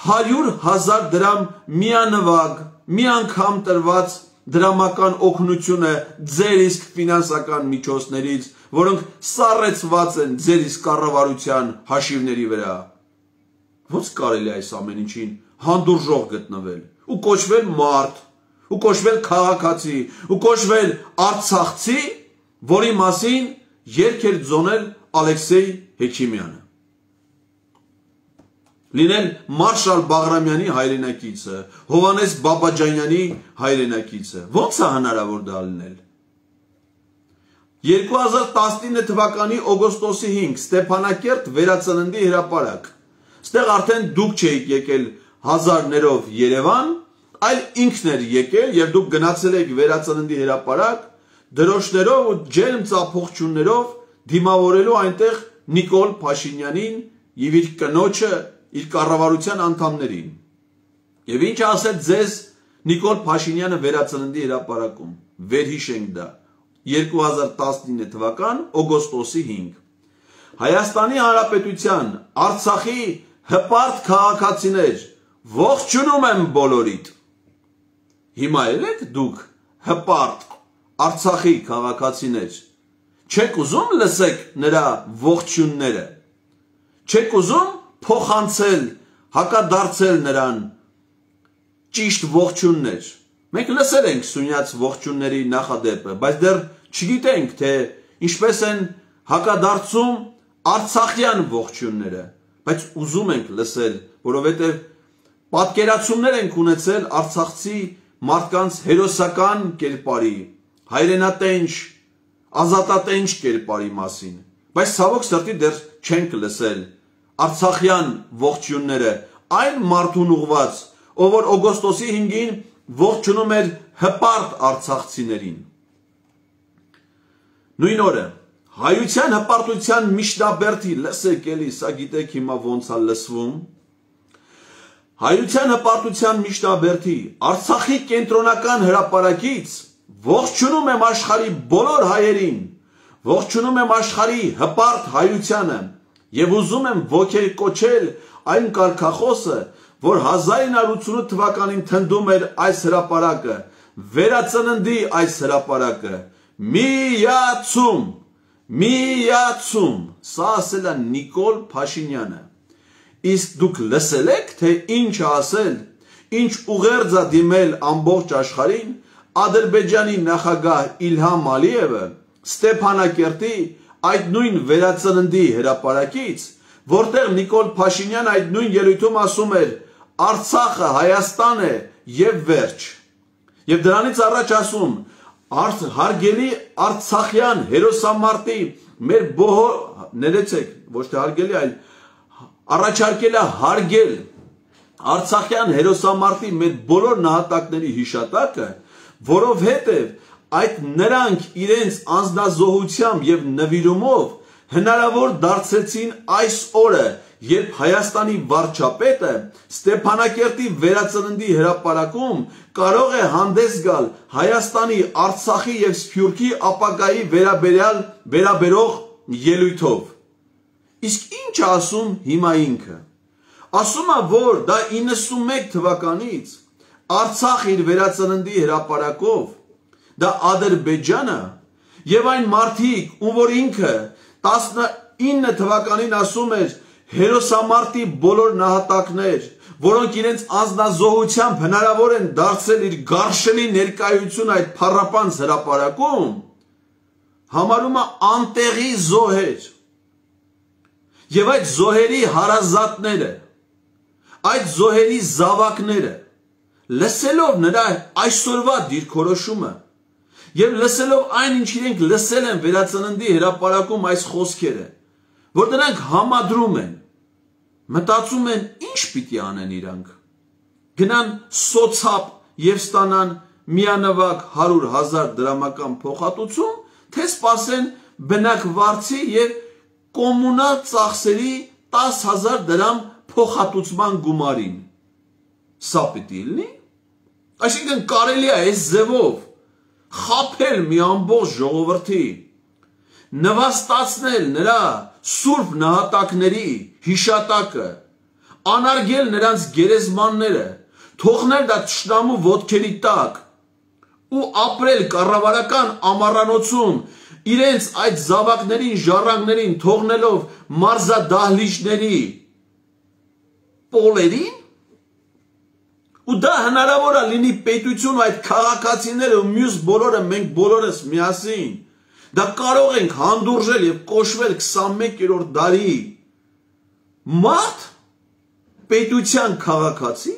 Speaker 1: 100,000 դրամ միանվագ, մի անգամ տրված դրամական օգնությունը ձեր իսկ ֆինանսական միջոցներից, որոնք սառեցված են ձեր իսկ կառավարության հաշիվների վրա։ Ոնց կարելի է այս ամեն ինչին հանդուրժող գտնվել ու կոչվել մարդ, ու կոչվել քաղաքացի, ու կոչվել արցախցի, որի մասին երգ էր ձոնել Ալեքսեյ Հեքիմյանը։ Լինել Մարշալ Բաղրամյանի հայրենակիցը, Հովհաննես Բաբաջանյանի հայրենակիցը։ Ոնց է հնարավոր դա լինել։ 2019 թվականի օգոստոսի 5 Ստեփանակերտ վերածննդի հրապարակ։ Ստեղ արդեն դուք չէիք եկել հազարներով Երևան, այլ ինքն էր եկել եւ դուք գնացել եք վերածննդի հրապարակ դրոշներով ու ջերմ ծափողջուններով դիմավորելու այնտեղ Նիկոլ Փաշինյանին եւ իր կնոջը, իր կառավարության անդամներին։ Եվ ինչ ասեց ձեզ Նիկոլ Փաշինյանը վերածննդի հրապարակում։ Վերհիշենք դա 2019 թվական օգոստոսի 5 Հայաստանի Հանրապետության Արցախի հպարտ քաղաքացիներ, ողջունում եմ բոլորիդ։ Հիմա եք դուք հպարտ Արցախի քաղաքացիներ, չեք ուզում լսեք նրա ողջունները, չեք ուզում փոխանցել, հակադարձել նրան ճիշտ ողջուններ։ Մենք լսել ենք Սյունյաց ողջունների նախադեպը, բայց դեռ չգիտենք, թե ինչպես են հակադարձում արցախյան ողջունները, բայց ուզում ենք լսել, որովհետև պատկերացումներ ենք ունեցել արցախցի մարդկանց հերոսական կերպարի, հայրենատենչ, ազատատենչ կերպարի մասին, բայց ցավոք սրտի դեռ չենք լսել արցախյան ողջունները, այն մարդուն ուղված, ով որ օգոստոսի 5-ին ողջունում էր հպարտ արցախցիներին։ Նույն օրը հայության հպարտության միջնաբերդի, լսեք էլի, սա գիտեք հիմա ոնց է լսվում, հայության հպարտության միջնաբերդի Արցախի կենտրոնական հրապարակից ողջունում եմ աշխարհի բոլոր հայերին, ողջունում եմ աշխարհի հպարտ հայությանը եւ ուզում եմ ոգեկոչել այն կարգախոսը, որ 1988 թվականին թնդում էր այս հրապարակը, վերածննդի այս հրապարակը, միացում, սա ասել է Նիկոլ Փաշինյանը, իսկ դուք լսել եք, թե ինչ ասել, ինչ ուղերձ է դիմել ամբողջ աշխարհին, Ադրբեջանի նախագահ Իլհամ Ալիևը Ստեփանակերտի այդ նույն վերածննդի հրապարակից, որտեղ Նիկոլ Փաշինյանը այդ նույն ելույթում ասում էր Արցախը Հայաստան է եւ վերջ։ Եվ դրանից առաջ ասում հարգելի Արցախյան հերոսամարտի մեր ներեցեք, ոչ թե հարգելի, այլ առաջարկել է հարգել Արցախյան հերոսամարտի մեր բոլոր նահատակների հիշատակը, որովհետև այդ նրանք իրենց անձնազոհությամբ եւ նվիրումով հնարավոր դարձրեցին այս օրը, երբ Հայաստանի վարչապետը Ստեփանակերտի վերածննդի հրապարակում կարող է հանդես գալ Հայաստանի, Արցախի եւ Սփյուռքի ապագայի վերաբերող ելույթով։ Իսկ ինչ ասում հիմա ինքը։ Ասում է, որ դա 91 թվականից Արցախ իր վերածննդի հրապարակով, դա Ադրբեջանը եւ այն մարդիկ, ում որ ինքը 19 թվականին ասում էր հերոսամարտի բոլոր նահատակներ, որոնք իրենց անձնազոհությամբ հնարավոր են դարձել իր գարշելի ներկայություն այդ փառապանց հրապարակում, համարում է անտեղի զոհեր։ Եվ այդ զոհերի հարազատները, այդ զոհերի զավակները, լսելով նրա այսօրվա դիրքորոշումը եւ լսելով այն, ինչ իրենք լսել են վերածննդի հրապարակում այս խոսքերը, որ նրանք համադրում են, մտածում են, ինչ պիտի անեն իրանք, գնան սոցապ եւ ստանան միանվագ 100,000 դրամական փոխհատուցում, թե սպասեն բնակվարձի եւ կոմունալ ծախսերի 10,000 դրամ փոխհատուցման գումարին։ Սա պիտի լինի։ Այսինքն կարելի է այս ձևով խաբել մի ամբողջ ժողովրդի, նվաստացնել նրա սուրբ նահատակների հիշատակը, անարգել նրանց գերեզմանները, թողնել դա թշնամու ոտքերի տակ ու ապրել կառավարական ամառանոցում իրենց այդ զավակներին, ժառանգներին թողնելով մարզադահլիճների պոլերին, ու դա հնարավոր է լինի պետություն այդ քաղաքացիները ու մյուս բոլորը, մենք բոլորս միասին, դա կարող ենք հանդուրժել եւ կոչվել 21-րդ դարի մարդ, պետության քաղաքացի,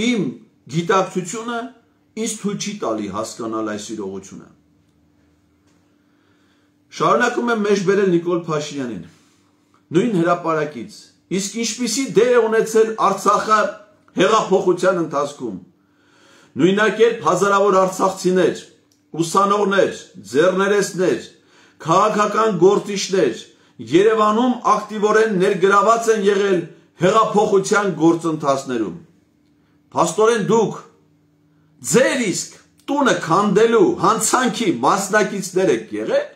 Speaker 1: իմ գիտակցությունը ինձ թույլ չի տալի հասկանալ այս իրողությունը։ Շարունակում եմ մեջբերել Նիկոլ Փաշինյանին, նույն հրապարակից, իսկ ինչպիսի դեր է ունեցել Արցախը հեղափոխության ընթացքում, նույնակերպ հազարավոր արցախցիներ, ուսանողներ, ձեռներեցներ, քաղաքական գործիչներ Երևանում ակտիվորեն ներգրաված են եղել հեղափոխության գործընթացներում։ Փաստորեն դուք ձեր իսկ տունը քանդելու հանցանքի մասնակիցներ եք եղել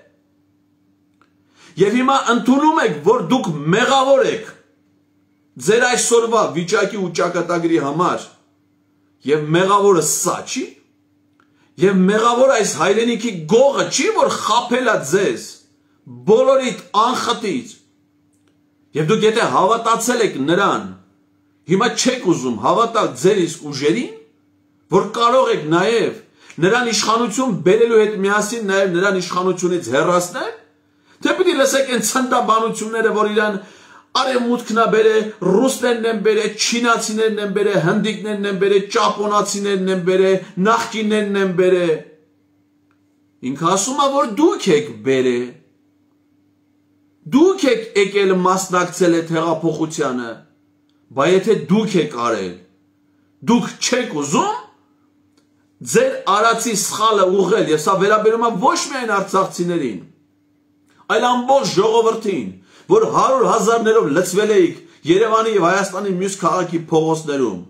Speaker 1: եւ հիմա ընդունում եք, որ դուք մեղավոր եք ձեր այսօրվա վիճակի ու ճակատագրի համար եւ մեղավորը սա չի եւ մեղավոր այս հայրենիքի գողը չի, որ խաբել է ձեզ բոլորիդ անխտիր եւ դուք եթե հավատացել եք նրան, հիմա չեք ուզում հավատալ ձեր իսկ ուժերին, որ կարող եք նաեւ նրան իշխանություն բերելու հետ միասին նաեւ նրան իշխանությունից հեռացնել, թե պիտի լսեք այն ցնդաբանությունները, որ իրան արևմուտքն է բերել, ռուսներն են բերել, չինացիներն են բերել, հնդիկներն են բերել, ճապոնացիներն են բերել, նախկիններն են բերել։ Ինքը ասում է, որ դուք եք բերել, դուք եք եկել մասնակցել այդ հեղափոխությանը, բայց եթե դուք եք արել, դուք չեք ուզում ձեր արածի սխալը ուղղել, եւ սա վերաբերում է ոչ միայն արցախցիներին, այլ ամբողջ ժողովրդին, որ 100,000-ներով լցվել էիք Երևանի եւ Հայաստանի մյուս քաղաքի փողոցներում։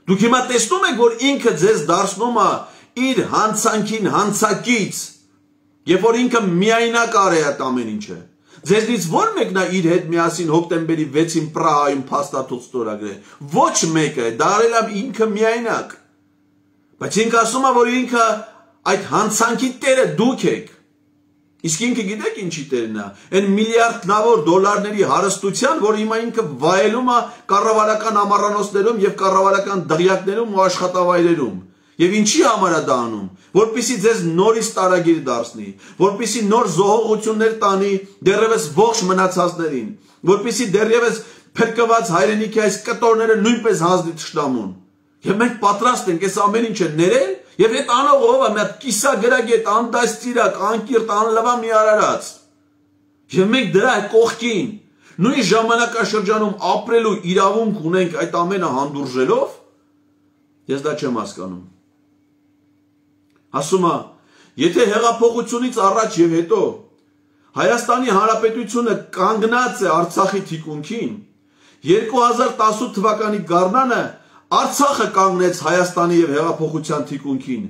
Speaker 1: Դուք հիմա տեսնում եք, որ ինքը ձեզ դարձնում է իր հանցանքին հանցակից, երբ որ ինքը միայնակ արել է այդ ամեն ինչը։ Ձեզնից ո՞ր մեկն է իր հետ միասին հոկտեմբերի 6-ին Պրահայում փաստաթուղթ ստորագրել։ Ոչ մեկը, դա արել է ինքը միայնակ։ Բայց ինքը ասում է, որ ինքը այդ հանցանքի տերը դուք եք։ Իսկ ինքը գիտեք ինչի տերն է։ Այն միլիարդավոր դոլարների հարստության, որ հիմա ինքը վայելում է կառավարական ամառանոցներում եւ կառավարական դղյակներում ու աշխատավայրերում։ Եվ ինչի համար է դա անում, որպեսզի ձեզ նորից տարագիր դարձնի, որպեսզի նոր զոհողություններ տանի դեռևս ողջ մնացածներին, որպեսզի դեռևս փրկված հայրենիքի այս կտորները նույնպես հանձնի թշնամուն։ Եվ մենք պատրաստ ենք այս ամեն ինչը ներել, եւ այդ անողը ով է, մի հատ կիսագրագետ, անդաստիրակ, անկիրտ, անլվա մի արարած։ Եվ մենք դրա կողքին նույն ժամանակաշրջանում ապրելու իրավունք ունենք այդ ամենը հանդուրժելով, ես դա չեմ հասկանում։ Ասում է, եթե հեղափոխությունից առաջ եւ հետո Հայաստանի Հանրապետությունը կանգնած է Արցախի թիկունքին, 2018 թվականի գարնանը Արցախը կանգնեց Հայաստանի եւ հեղափոխության թիկունքին,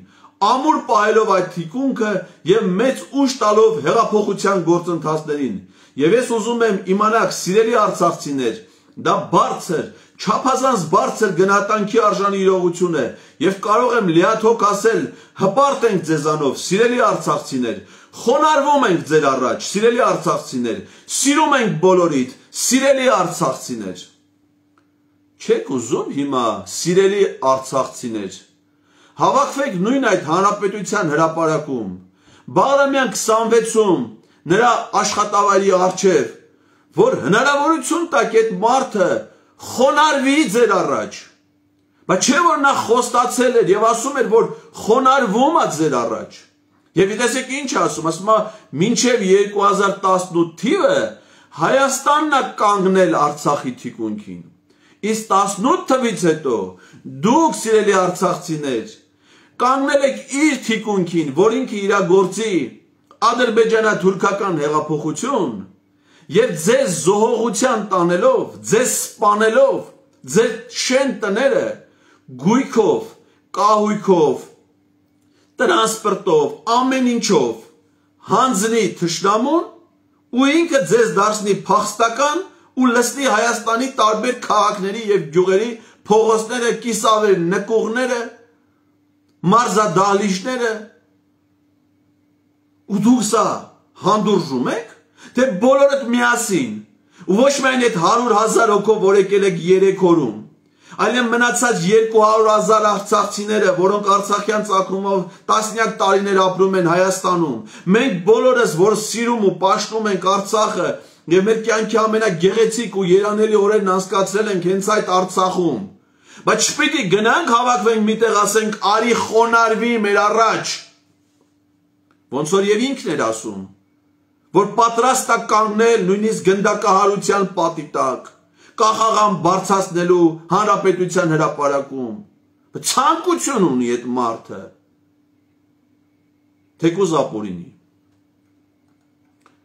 Speaker 1: ամուր պահելով այդ թիկունքը եւ մեծ ուժ տալով հեղափոխության գործընթացներին։ Եվ ես ուզում եմ իմանաք, սիրելի արցախցիներ, դա բարձր, չափազանց բարձր գնահատանքի արժանի իրողություն է եւ կարող եմ լիաթոք ասել, հպարտ ենք ձեզանով, սիրելի արցախցիներ, խոնարհվում ենք ձեր առաջ, սիրելի արցախցիներ, սիրում ենք բոլորիդ, սիրելի արցախցիներ։ Չեք ուզում հիմա, սիրելի արցախցիներ, հավաքվեք նույն այդ հանրապետության հրապարակում, Բաղրամյան 26-ում նրա աշխատավայրի առջև, որ հնարավորություն տակ այդ մարդը խոնարհվի ձեր առաջ, բայց չէ որ նա խոստացել էր եւ ասում էր, որ խոնարհվում է ձեր առաջ։ Եվ տեսեք ինչ ասում է, մինչև 2018 թիվը Հայաստանն է կանգնել Արցախի թիկունքին։ Իսկ 18 թվից հետո դուք, սիրելի արցախցիներ, կանգնել եք իր թիկունքին, որ ինքը իրագործի ադրբեջանա-թուրքական հեղափոխություն եւ ձեզ զոհողության տանելով, ձեզ սպանելով, ձեր շեն տները գույքով, կահույքով, տրանսպորտով, ամեն ինչով հանձնի թշնամուն ու ինքը ձեզ դարձնի փախստական ու լցնի Հայաստանի տարբեր քաղաքների եւ գյուղերի փողոցները, կիսավեր, նկուղները, մարզադահլիճները, ու դուք սա հանդուրժում եք, թե բոլորդ միասին, ու ոչ միայն այդ 100,000 հոգով, որ եկել եք 3 օրում, այլև մնացած 200,000 արցախցիները, որոնք արցախյան ծագումով տասնյակ տարիներ ապրում են Հայաստանում, մենք բոլորս, որ սիրում ու պաշտում ենք Արցախը եւ մեր կյանքի ամենագեղեցիկ ու երանելի օրերն անցկացրել ենք հենց այդ Արցախում, բայց չպիտի գնանք հավաքվենք միտեղ ասենք արի խոնարհվի մեր առաջ, ոնց որ եւ ինքն էր ասում, որ պատրաստ է կանգնել նույնիսկ գնդակահարության պատի տակ, կախաղան բարձրացնելու հանրապետության հրապարակում, ցանկություն ունի այդ մարդը, թեկուզ ապօրինի։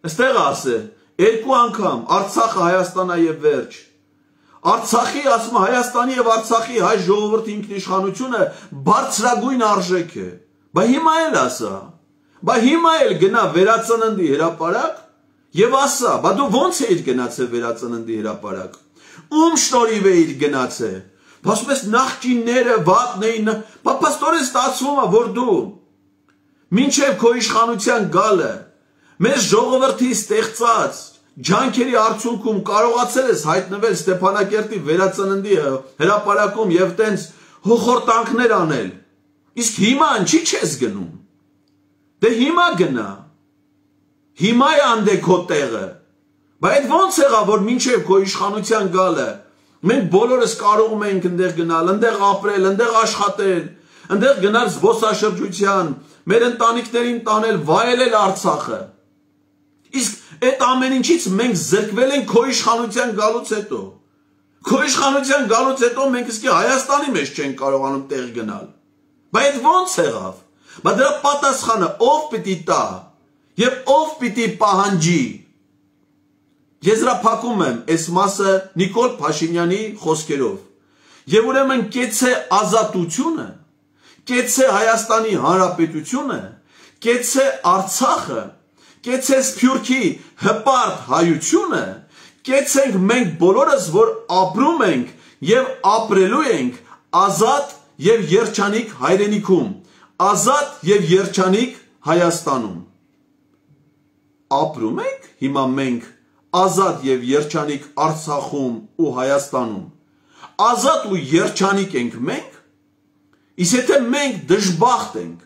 Speaker 1: Այստեղ ասե, 2 անգամ Արցախը Հայաստանա եւ վերջ։ Արցախի, ասում Հայաստանի եւ Արցախի հայ ժողովրդի ինքնիշխանությունը բարձրագույն արժեք է։ Բա հիմա էլ ասա, բա հիմա էլ գնա վերածննդի հրապարակ եւ ասա, բա դու ո՞նց էիր գնացել վերածննդի հրապարակ։ Ում շնորհիվ էիր գնացել։ Ասում ես նախկինները վատն էին, բա պաստորեն ստացվում է, որ դու մինչև քո իշխանության գալը մեր ժողովրդի ստեղծած ջանքերի արդյունքում կարողացել ես հայտնվել Ստեփանակերտի վերածննդի հրապարակում եւ տենց հոխորտանքներ անել։ Իսկ հիմա ինչի՞ չես գնում։ Դե հիմա գնա։ Հիմա է անդե քո տեղը։ Բայց ո՞նց եղավ, որ մինչև քո իշխանության գալը մենք բոլորս կարողում ենք այնտեղ գնալ, այնտեղ ապրել, այնտեղ աշխատել, այնտեղ գնալ զբոսաշրջության, մեր ընտանիքներին տանել, վայելել Արցախը։ Իսկ այդ ամեն ինչից մենք զրկվել ենք քո իշխանության գալուց հետո։ Քո իշխանության գալուց հետո մենք իսկի Հայաստանի մեջ չենք կարողանում տեղ գնալ։ Բայց ո՞նց եղավ։ Բայց դրա պատասխանը ով պիտի տա եւ ով պիտի պահանջի։ Եզրափակում եմ այս մասը Նիկոլ Փաշինյանի խոսքերով։ Եվ ուրեմն կեցե ազատությունը, կեցե Հայաստանի Հանրապետությունը, կեցե Արցախը, կեցե Սփյուռքի հպարտ հայությունը, կեցենք մենք բոլորս, որ ապրում ենք եւ ապրելու ենք ազատ եւ երջանիկ հայրենիքում, ազատ եւ երջանիկ Հայաստանում։ Ապրում ենք հիմա մենք ազատ եւ երջանիկ Արցախում ու Հայաստանում։ Ազատ ու երջանիկ ենք մենք, իսկ եթե մենք դժբախտ ենք,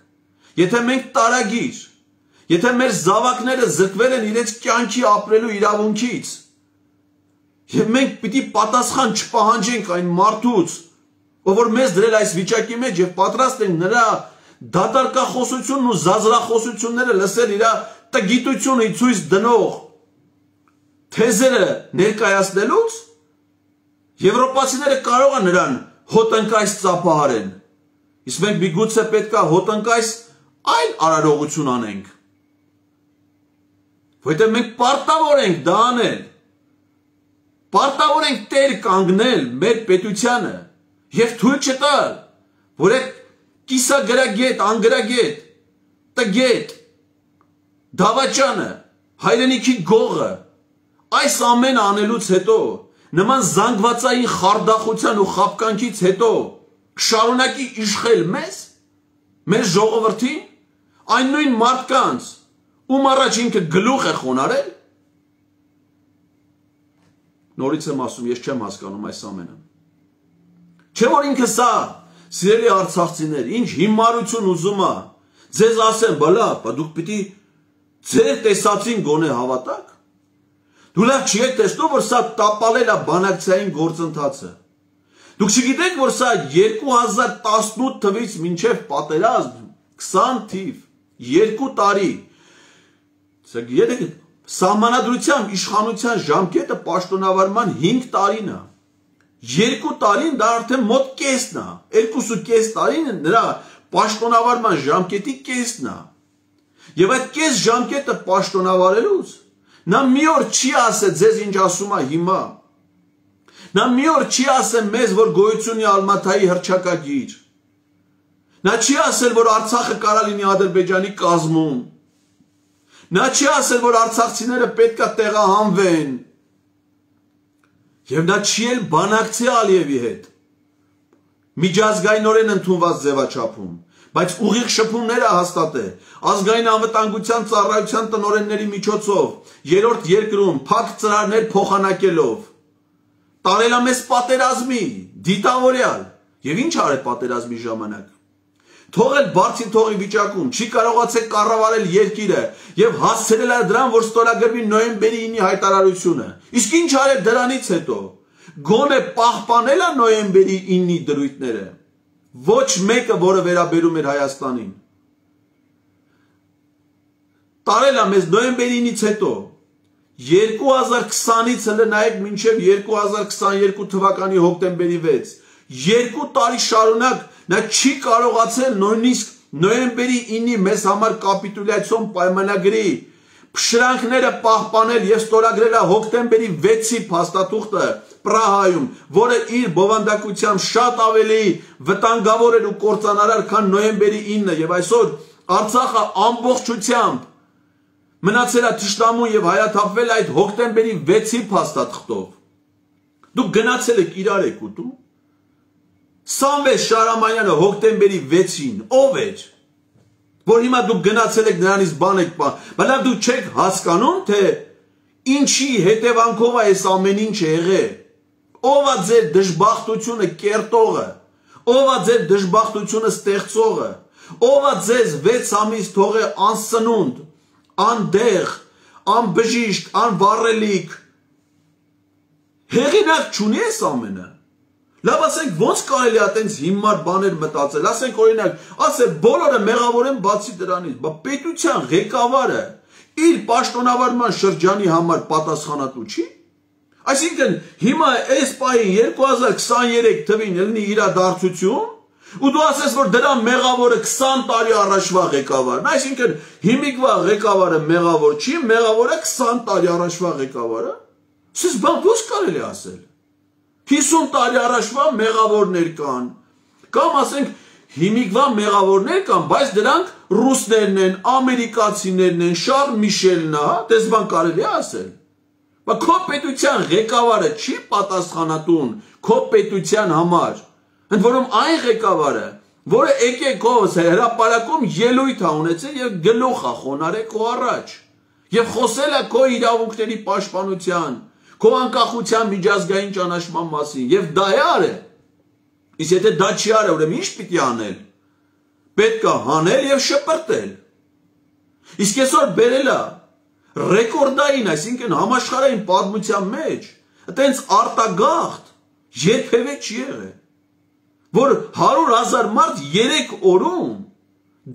Speaker 1: եթե մենք տարագիր, եթե մեր զավակները զրկվել են իրենց կյանքի ապրելու իրավունքից, եւ մենք պիտի պատասխան չպահանջենք այն մարդուց, ով որ մեզ դրել այս վիճակի մեջ եւ պատրաստ ենք նրա դատարկախոսությունն ու զազրախոսությունները լսել իր տգիտությունը ցույց դնող թեզերը ներկայացնելուց, եվրոպացիները կարող են նրան հոտնկայս ծափահարեն, իսկ մենք միգուցե պետք է հոտնկայս այլ արարողություն անենք, որտեղ մենք պարտավոր ենք դա անել, պարտավոր ենք տեր կանգնել մեր պետությանը եւ թույլ չտալ, որ այդ կիսագրագետ, անգրագետ, տգետ, դավաճանը, հայրենիքի գողը, այս ամենը անելուց հետո, նման զանգվածային խարդախության ու խաբկանքից հետո շարունակի իշխել մեզ, մեր ժողովրդին, այն նույն մարդկանց, ում առաջ ինքը գլուխ է խոնարել, նորից եմ ասում, ես չեմ հասկանում այս ամենը։ Չէ որ ինքը սա, սիրելի արցախցիներ, ինչ հիմարություն ուզում է, ձեզ ասեմ, բալա, դուք պիտի ձեր տեսածին գոնե հավատաք, դու լավ չի եք տեսնում, որ սա տապալել է բանակցային գործընթացը։ Դուք չգիտեք, որ սա 2018 թվից մինչև պատերազմ 20 թիվ, 2 տարի, սահմանադրությամբ իշխանության ժամկետը պաշտոնավարման 5 տարին է, 2 տարին դա արդեն մոտ կեսն է, 2.5 տարին նրա պաշտոնավարման ժամկետի կեսն է, և այդ կես ժամկետը պաշտոնավարելուց, նա մի օր չի ասել ձեզ ինչ ասում է հիմա, նա մի օր չի ասել մեզ, որ գոյություն է Ալմաթայի հռչակագիր, նա չի ասել, որ Արցախը կարա լինի Ադրբեջանի կազմում, նա չի ասել, որ արցախցիները պետք է տեղահանվեն, և նա չի էլ բանակցի Ալիևի հետ, միջազգայինորեն ընդունված ձևաչափում, բայց ուղիղ շփումները հաստատել, ազգային անվտանգության ծառայության տնօրենների միջոցով, երրորդ երկրում փակ ծրարներ փոխանակելով, տարել է մեզ պատերազմի, դիտավորյալ, և ինչ արել պատերազմի ժամանակ, թողել բարձին թողի վիճակում, չի կարողացել կառավարել երկիրը և հասցրել է դրան, որ ստորագրվի նոյեմբերի 9-ի հայտարարությունը, իսկ ինչ արել դրանից հետո, գոնե պահպանել է նոյեմբերի 9-ի դրույթները, ոչ մեկը, որը վերաբերում էր Հայաստանին, տարել է մեզ նոյեմբերի 9-ից հետո, 2020-ից հենց նայեք մինչև 2022 թվականի հոկտեմբերի 6, 2 տարի շարունակ նա չի կարողացել նույնիսկ նոյեմբերի 9-ի մեզ համար կապիտուլյացիոն պայմանագրի փշրանքները պահպանել և ստորագրել է հոկտեմբերի 6-ի փաստաթուղթը Պրահայում, որը իր բովանդակությամբ շատ ավելի վտանգավոր էր ու կործանարար, քան նոյեմբերի 9-ը, և այսօր Արցախը ամբողջությամբ մնացել է թշնամու և հայաթափվել այդ հոկտեմբերի 6-ի փաստաթղթով։ Դուք գնացել եք իրար եք ուտում։ Սամվել Շահրամանյանը հոկտեմբերի 6-ին ով էր, որ հիմա դուք գնացել եք նրանից բան եք բայց դուք չեք հասկանում, թե ինչի հետևանքով է այս ամեն ինչ եղել, ով է ձեր դժբախտությունը կերտողը, ով է ձեր դժբախտությունը ստեղծողը, ով է ձեզ 6 ամիս թողել անսնունդ, անդեղ, անբժիշկ, անվառելիք, հեղինակ չունի այս ամենը։ Լավ ասենք ոնց կարելի է տենց հիմար բաներ մտածել, ասենք օրինակ, ասել բոլորը մեղավոր են բացի դրանից, բա պետության ղեկավարը իր պաշտոնավարման շրջանի համար պատասխանատու չի։ Այսինքն հիմա այս պահին 2023 թվին լինի իրադարձություն, ու դու ասես, որ դրա մեղավորը 20 տարի առաջվա ղեկավարն, այսինքն հիմիկվա ղեկավարը մեղավոր չի, մեղավորը 20 տարի առաջվա ղեկավարը, սես բան ոնց կարելի է ասել։ 50 տարի առաջվա մեղավորներ կան, կամ ասենք հիմիկվա մեղավորներ կան, բայց դրանք ռուսներն են, ամերիկացիներն են, Շարլ Միշելն է, դες բան կարելի է ասել։ Բա քո պետության ղեկավարը չի պատասխանատուն քո պետության համար։ Ընդ որում այն ղեկավարը, որը եկեք քո հրապարակում ելույթ է ունեցել եւ գլուխ է խոնարհել քո առաջ եւ խոսել է քո իրավունքների պաշտպանության, քո անկախության միջազգային ճանաչման մասին եւ դա է արել։ Իսկ եթե դա չի արել, ուրեմն ինչ պիտի անել։ Պետք է հանել եւ շպրտել։ Իսկ այսօր բերել է ռեկորդային, այսինքն համաշխարհային պատմության մեջ, այտենց արտագաղթ երբևէ չի եղել, որ 100,000 մարդ 3 օրում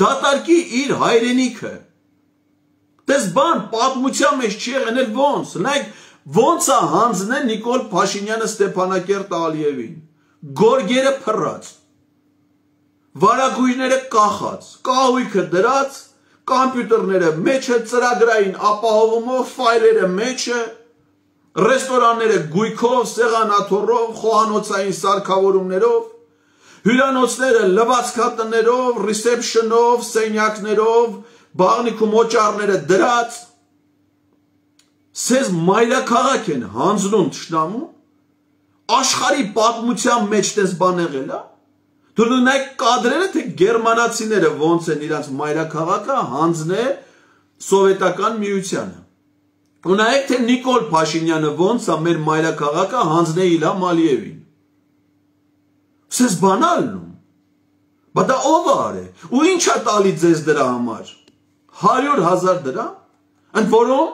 Speaker 1: դատարկի իր հայրենիքը։ Դες բան պատմության մեջ չի եղել ոնց, նայեք ոնց է հանձնել Նիկոլ Փաշինյանը Ստեփանակերտ Ալիևին, գորգերը փռած, վարագույրները կախած, կահույքը դրած, կամպյուտերները մեջը, ծրագրային ապահովումով, ֆայլերը մեջը, ռեստորանները գույքով, սեղանաթոռով, խոհանոցային սարքավորումներով, հյուրանոցները լվացքատներով, ռիսեպշնով, սենյակներով, բաղնիքում օճառները դրած, սեզ մայրաքաղաք են հանձնում թշնամու, աշխարհի պատմության մեջ դες բան եղել է։ Դու նայեք կադրերը, թե գերմանացիները ոնց են իրանց մայրաքաղաքը հանձնել սովետական միությանը։ Ու նայեք, թե Նիկոլ Փաշինյանը ոնց է մեր մայրաքաղաքը հանձնել Իլհամ Ալիևին։ Սեզ բանալն ու։ Բա դա ով է արել։ Ու ինչ է տալի ձեզ դրա համար։ 100,000 դրամ, ընդ որում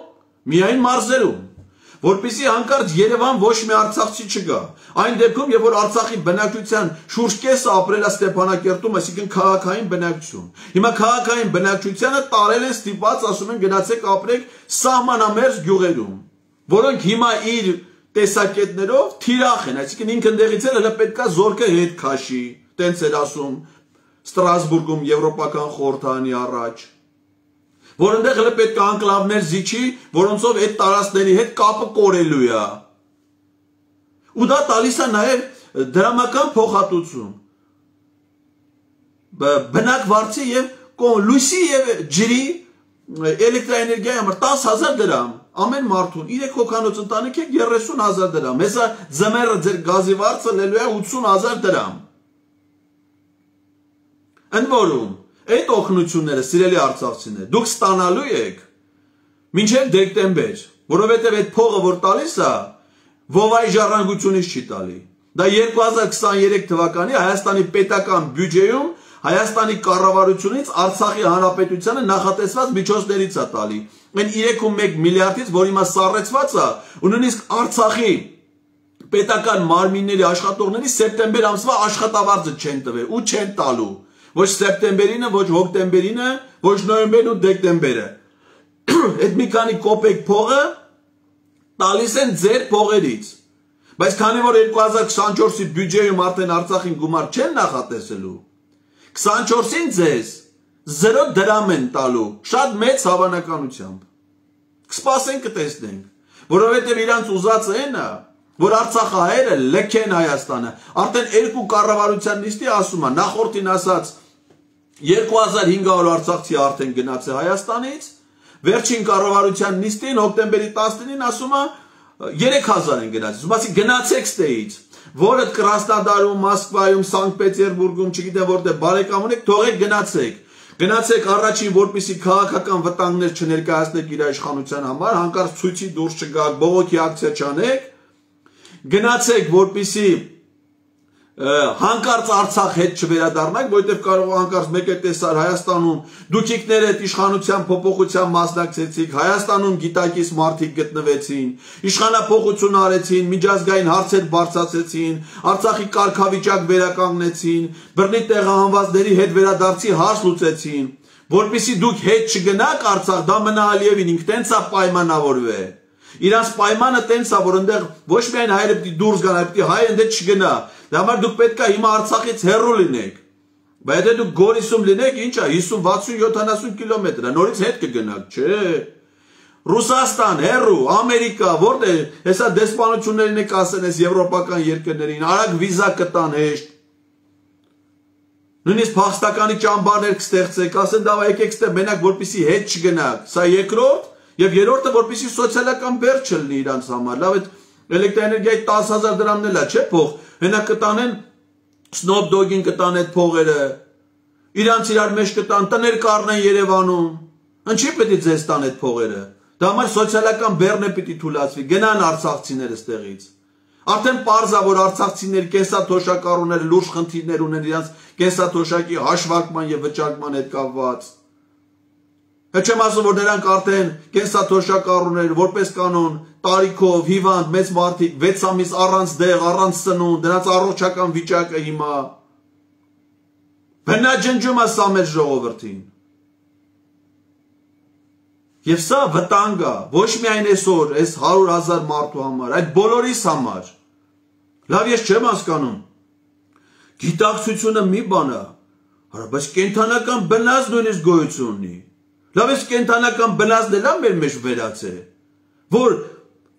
Speaker 1: միայն մարզերում, որպեսզի հանկարծ Երևան ոչ մի արցախցի չգա։ Այն դեպքում, երբ որ Արցախի բնակչության շուրջ կեսը ապրել է Ստեփանակերտում, այսինքն քաղաքային բնակչություն։ Հիմա քաղաքային բնակչությանը տարել են ստիպած, ասում են գնացեք ապրեք սահմանամերձ գյուղերում, որոնք հիմա իր տեսակետներով թիրախ են, այսինքն ինքը ընդեղից էլ հələ պետքա զորքը հետ քաշի, տենց էր ասում Ստրասբուրգում Եվրոպական խորհրդարանի առաջ, որ ընդեղ հələ պետք է անկլավներ զիջի, որոնցով այդ տարածքների հետ կապը կորելու է։ Ու դա տալիս է նաև դրամական փոխհատուցում։ Բնակվարձի եւ լույսի եւ ջրի էլեկտրաէներգիայի համար 10,000 դրամ ամեն մարդուն, 3 հոգանոց ընտանիք է 30,000 դրամ, հեսա ձմեռը ձեր գազի վարձը լելու է 80,000 դրամ։ Ընդ որում այդ օգնությունները, սիրելի արցախցիներ, դուք ստանալու եք մինչև դեկտեմբեր, որովհետև այդ փողը, որ տալիս է, ովայի ժառանգությունից չի տալի։ Դա 2023 թվականի Հայաստանի պետական բյուջեում Հայաստանի կառավարությունից Արցախի հանրապետությանը նախատեսված միջոցներից է տալի։ Այն 3.1 միլիարդից, որ հիմա սառեցված է, ու նույնիսկ Արցախի պետական մարմինների աշխատողների սեպտեմբեր ամսվա աշխատավարձը չեն տվել ու չեն տալու։ Ոչ սեպտեմբերինը, ոչ հոկտեմբերինը, ոչ նոյեմբերն ու դեկտեմբերը։ Այդ մի քանի կոպեկ փողը տալիս են ձեր փողերից։ Բայց քանի որ 2024-ի բյուջեում արդեն Արցախին գումար չեն նախատեսելու, 24-ին ձեզ 0 դրամ են տալու, շատ մեծ հավանականությամբ։ Կսպասենք կտեսնենք, որովհետև իրանց ուզածը այն է, որ արցախահայերը լքեն Հայաստանը։ Արդեն երկու կառավարության նիստի ասում է, նախորդին ասած 2500 արցախցի արդեն գնաց է Հայաստանից, վերջին կառավարության նիստին հոկտեմբերի 19-ին ասում է 3000 են գնացել, ուսումասի գնացեք ստեից, որը Կրասնոդարում, Մոսկվայում, Սանկտ Պետերբուրգում, չգիտեմ որտեղ բարեկամ ունեք, թողեք գնացեք։ Գնացեք առաջին, որպեսզի քաղաքական վտանգներ չներկայացնեք իր իշխանության համար, հանկարծ ցույցի դուրս չգաք, բողոքի ակցիա չանեք, գնացեք, որպեսզի հանկարծ Արցախ հետ չվերադառնաք, որովհետև կարող հանկարծ մեկ է տեսար Հայաստանում դուք իկներ այդ իշխանության փոփոխության մասնակցեցիք, Հայաստանում գիտակից մարդիկ գտնվեցին, իշխանափոխություն արեցին, միջազգային հարցեր բարձրացեցին, Արցախի կարգավիճակ վերականգնեցին, բռնի տեղահանվածների հետ վերադարձի հարց լուծեցին, որպեսզի դուք հետ չգնաք Արցախ, դա մնա Ալիևին ինքը տենց է պայմանավորվել։ Իրանց պայմանը տենց է, որ այնտեղ ոչ միայն հայերը պիտի դուրս գան, այլ պիտի հայը այնտեղ չգնա։ Դա համար դուք պետք է հիմա Արցախից հեռու լինեք։ Բայց եթե դուք Գորիսում լինեք, ինչ է, 50-60-70 կիլոմետր է, նորից հետ կգնաք, չէ։ Ռուսաստան, հեռու, Ամերիկա, որտեղ, հեսա դեսպանություններին եք ասեն այս եվրոպական երկրներին, արագ վիզա կտան հեշտ։ Նույնիսկ փախստականի ճամբարներ կստեղծեք, ասեն դա եկեք ստե մենակ որպեսի հետ չգնաք։ Սա երկրորդ եւ երրորդը որպեսի սոցիալական բեռ չլինի իրանց համար։ Լավ այդ էլեկտրաէներգիայի 10,000 դրամն էլ է, չէ՞ փող։ Հենա կտանեն Snoop Dogg-ին կտան այդ փողերը։ Իրանց իրար մեջ կտան, տներ կառնեն Երևանում։ Ինչի՞ պետք է ձեզ տան այդ փողերը։ Դա համար սոցիալական բեռն է պիտի թույլատրվի։ Գնան արցախցիները ստեղից։ Արդեն պարզ է, որ արցախցիների կենսաթոշակառուները լուրջ խնդիրներ ունեն իրանց կենսաթոշակի հաշվարկման եւ վճարման հետ կապված։ Հետ չեմ ասում, որ նրանք արդեն կենսաթոշակառուներ, որպես կանոն, տարիքով, հիվանդ, մեծ մարդիկ, 6 ամիս առանց դեղ, առանց սնունդ, դրանց առողջական վիճակը հիմա բնաջնջում է սա մեր ժողովրդին։ Եվ սա վտանգ է, ոչ միայն այսօր, այս 100,000 մարդու համար, այդ բոլորիս համար։ Լավ, ես չեմ հասկանում։ Գիտակցությունը մի բան է, բայց կենդանական բնազդ նույնիսկ գոյություն ունի։ Լավ, այս կենդանական բնազդն էլ մեր մեջ վերած է, որ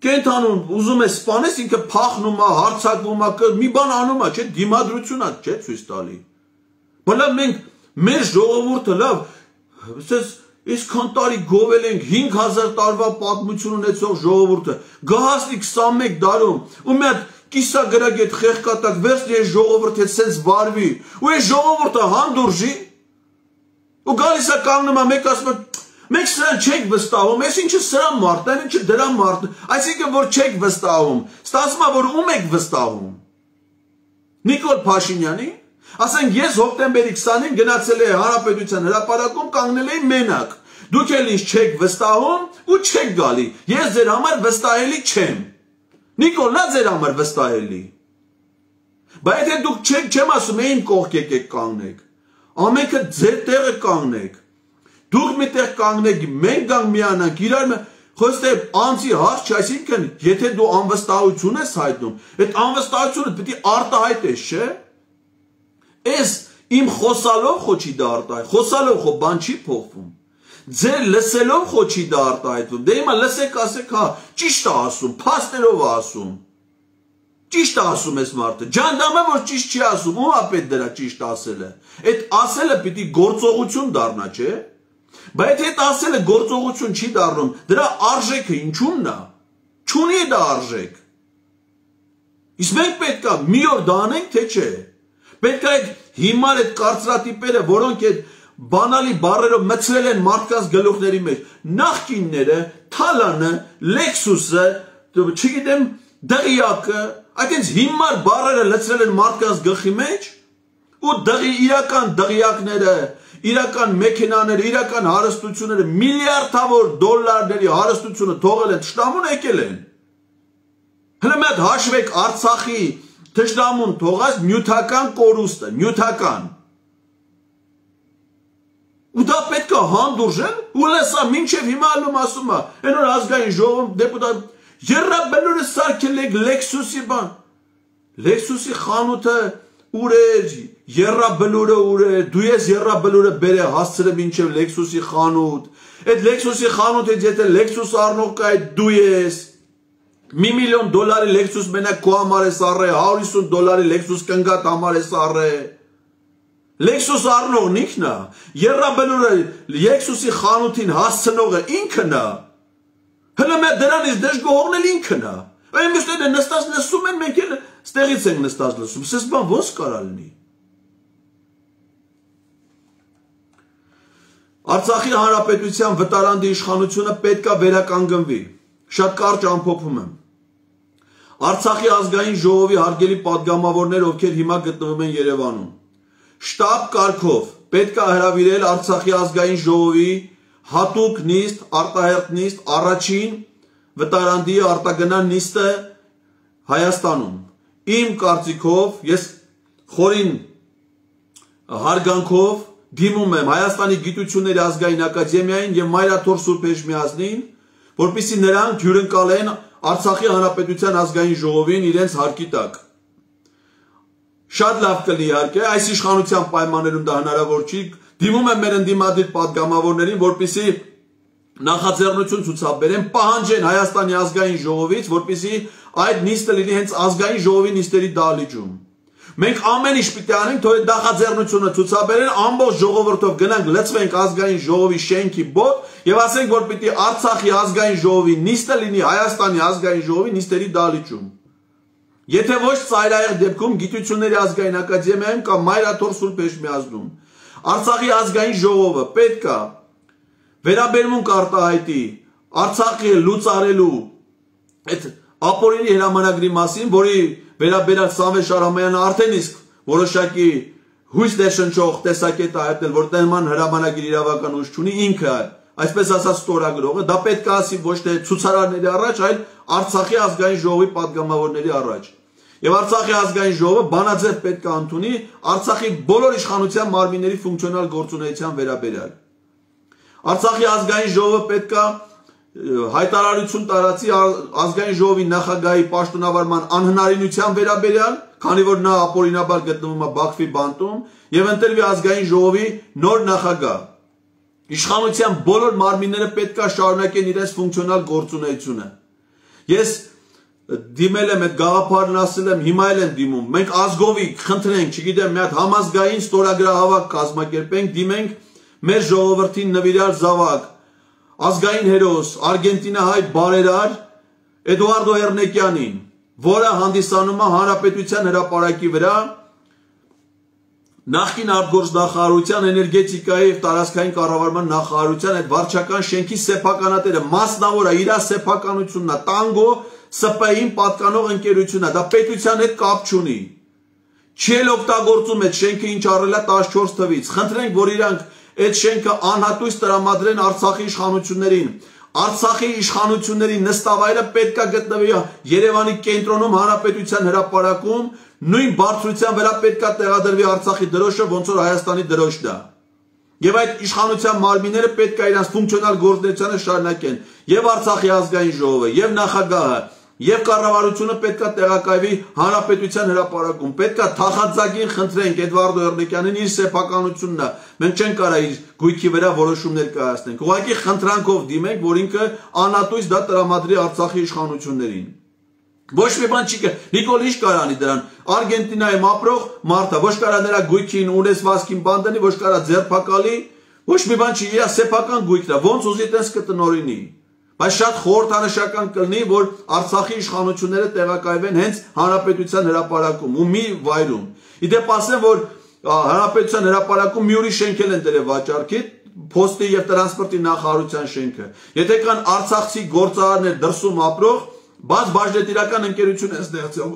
Speaker 1: կենդանուն ուզում է սպանես, ինքը փախնում է, հարձակվում է, մի բան անում է, չէ՞, դիմադրություն է, չէ՞ ցույց տալի։ Բայց մենք մեր ժողովուրդը լավ, ասես Այսքան տարի գովել ենք 5000 տարվա պատմություն ունեցող ժողովուրդը, գահասնի 21 դարում, ու մի հատ կիսագրագետ խեղկատակ վերցնի այս ժողովուրդը սենց վարվի, ու այս ժողովուրդը հանդուրժի, ու գալիս է կանգնում է, մեկ ասում է, մենք սրան չենք վստահում, այս ինչը սրա մարդն է, ինչը դրա մարդն, այսինքն որ չեք վստահում, ստացվում է, որ ում եք վստահում։ Նիկոլ Փաշինյանի, ասենք ես հոկտեմբերի 20-ին գնացել եմ Հանրապետության հրապարակում, կանգնել էի մենակ։ Դուք էլ ինձ չեք վստահում ու չեք գալի։ Ես ձեր համար վստահելի չեմ։ Նիկոլն է ձեր համար վստահելի։ Բայց եթե դուք չեմ ասում, իմ կողք եկեք կանգնեք։ Ամենքը ձեր տեղը կանգնեք։ Դուք մի տեղ կանգնեք, մենք գանք միանանք, իրար խոստե անձի հարց չէ, այսինքն եթե դու անվստահություն ես հայտնում, այդ անվստահությունը պետք է արտահայտես, չէ՞։ Ես իմ խոսալով խո չի դա արտահայտ, խոսալով խո բան չի փոխվում։ Ձեր լսելով խո չի դա արտահայտվում։ Դե հիմա լսեք, ասեք, հա, ճիշտ է ասում, փաստերով է ասում։ Ճիշտ է ասում ես մարդը։ Ջանդամը որ ճիշտ չի ասում, ո՞մ է պետք դրա ճիշտ ասելը։ Այդ ասելը պիտի գործողություն դառնա, չէ՞։ Բայց այդ ասելը գործողություն չի դառնում, դրա արժեքը ինչու՞մն է։ Չունի դա արժեք։ Իսկ մենք պետք է մի օր դա անենք, թե չէ։ Պետք է այդ հիմար այդ կարծրատիպերը, որոնք այդ բանալի բառերով մցրել են մարդկանց գլուխների մեջ, նախկինները, Թալանը, Լեքսուսը, չգիտեմ, դղիակը, այդպես հիմար բառերը լցրել են մարդկանց գլխի մեջ, ու իրական դղիակները, իրական մեքենաները, իրական հարստությունները, միլիարդավոր դոլարների հարստությունը թողել են, թշնամուն եկել են։ Հələ մի հատ հաշվեք Արցախի թշնամուն թողած նյութական կորուստը, նյութական։ Ու դա պետք է հանդուրժեն, ու լեսա մինչև հիմա ալում ասում է, այն որ ազգային ժողովում դեպուտատ, երրաբելուրը սարքել եք Լեքսուսի բան։ Լեքսուսի խանութը ուր էր, երրաբելուրը ուր էր, դու ես երրաբելուրը բերե հասցրը մինչև Լեքսուսի խանութ, այդ Լեքսուսի խանութից եթե Լեքսուս առնող կա այդ դու ես, $1 միլիոն Լեքսուս մենակ քո համար ես առե, $150 Լեքսուս կնգատ համար ես առե։ Լեքսուս առնողն ինքն է, երրաբելուրը Լեքսուսի խանութին հասցնողը ինքն է։ Հələ մի դրանից դժգոհողն էլ ինքն է։ Այն մյուսները նստած լսում են, մենք էլ ստեղից ենք նստած լսում։ Սես բան ոնց կարա լինի։ Արցախի հանրապետության վտարանդի իշխանությունը պետք է վերականգնվի։ Շատ կարճ ամփոփում եմ։ Արցախի ազգային ժողովի հարգելի պատգամավորներ, ովքեր հիմա գտնվում են Երևանում, շտաբ կարգով պետք է հրավիրել Արցախի ազգային ժողովի հատուկ նիստ, արտահերթ նիստ, առաջին վտարանդի արտագնան նիստը Հայաստանում։ Իմ կարծիքով, ես խորին հարգանքով դիմում եմ Հայաստանի գիտությունների ազգային ակադեմիային եւ Մայրաթոր Սուրբ Էջմիածնին, որպեսզի նրանք հյուրընկալեն Արցախի հանրապետության ազգային ժողովին իրենց հարկի տակ։ Շատ լավ կլինի իհարկե, այս իշխանության պայմաններում դա հնարավոր չի, դիմում եմ մեր ընդդիմադիր պատգամավորներին, որպեսզի նախաձեռնություն ցուցաբերեն, պահանջեն Հայաստանի ազգային ժողովից, որպեսզի այդ նիստը լինի հենց ազգային ժողովի նիստերի դահլիճում, Մենք ամեն ինչ պիտի անենք, թող այդ նախաձեռնությունը ցուցաբերեն, ամբողջ ժողովրդով գնանք լցվենք ազգային ժողովի շենքի բոտ եւ ասենք, որ պիտի Արցախի ազգային ժողովի նիստը լինի Հայաստանի ազգային ժողովի նիստերի դահլիճում։ Եթե ոչ ծայրահեղ դեպքում Գիտությունների ազգային ակադեմիայում կամ Մայրաթոր Սուրբ Էջմիածնում Արցախի ազգային ժողովը պետք է վերաբերմունք արտահայտի Արցախի լուծարելու այդ ապօրինի հրամանագրի մասին, որի վերաբերյալ Սամվել Շահրամանյանը արդեն իսկ որոշակի հույս ներշնչող տեսակետ է հայտնել, որ նման հրամանագիր իրավական ուժ չունի, ինքը այսպես ասած ստորագրողը, դա պետք է ասի ոչ թե ցուցարարների առաջ, այլ Արցախի ազգային ժողովի падգամավորների առաջ։ Եվ Արցախի ազգային ժողովը բանաձև պետք է ընդունի Արցախի բոլոր իշխանության մարմինների ֆունկցիոնալ գործունեության վերաբերյալ։ Արցախի ազգային ժողովը պետք է հայտարարություն տարածի ազգային ժողովի նախագահի պաշտոնավարման անհնարինության վերաբերյալ, քանի որ նա ապօրինաբար գտնվում է Բաքվի բանտում, եւ ընտրվի ազգային ժողովի նոր նախագահ։ Իշխանության բոլոր մարմինները պետք է շարունակեն իրենց ֆունկցիոնալ գործունեությունը։ Ես դիմել եմ այդ գաղափարն, ասել եմ, հիմա էլ եմ դիմում։ Մենք ազգովի խնդրենք, չգիտեմ, մի հատ համազգային ստորագրահավաք կազմակերպենք, դիմենք մեր ժողովրդին նվիրյալ զավակ, ազգային հերոս, արգենտինահայ բարերար Էդուարդո Էռնեկյանին, որը հանդիսանում է Հանրապետության հրապարակի վրա նախկին արտգործնախարարության էներգետիկայի եւ տարածքային կառավարման նախարարության այդ վարչական շենքի սեփականատերը մասնավոր է, իր սեփականությունն է, տանգո ՍՊ-ին պատկանող ընկերությունն է, դա պետության հետ կապ չունի։ Չի էլ օգտագործում այդ շենքը, ինչ առել է 14 թվից։ Խնդրենք, որ իրանք այդ շենքը անհատույց տրամադրեն Արցախի իշխանություններին։ Արցախի իշխանությունների նստավայրը պետք է գտնվի Երևանի կենտրոնում Հանրապետության հրապարակում, նույն բարձրության վրա պետք է տեղադրվի Արցախի դրոշը, ոնց որ Հայաստանի դրոշն է։ Եվ այդ իշխանության մարմինները պետք է իրենց ֆունկցիոնալ գործունեությունը շարունակեն։ Եվ Արցախի ազգային ժողովը, եւ նախագահը, եւ կառավարությունը պետք է տեղակայվի Հանրապետության հրապարակում։ Պետք է թախանձագին խնդրենք Էդվարդո Էռնեկյանին իր սեփականությունն է։ Մենք չենք կարող իր գույքի վրա որոշումներ կայացնենք։ Ուղղակի խնդրանքով դիմենք, որ ինքը անատույց դա տրամադրի Արցախի իշխանություններին։ Ոչ մի բան չի կա։ Նիկոլ ինչ կարանի դրան։ Արգենտինայում ապրող մարդը ոչ կարա նրա գույքին ունեցվածքին բան դնի, ոչ կարա ձերբակալի, ոչ մի բան չի, իր սեփական գույքն է, ոնց ուզի տես կտնօրինի։ Բայց շատ խորհրդանշական կլինի, որ Արցախի իշխանությունները տեղակայվեն հենց Հանրապետության հրապարակում ու մի վայրում։ Իդեպ ասեմ, որ Հանրապետության հրապարակում մի ուրիշ շենքել են դրել վաճառքի, Փոստի եւ տրանսպորտի նախարարության շենքը։ Եթե կան արցախցի գործարարներ դրսում ապրող, բաց բաժնետիրական ընկերություն են ստեղծել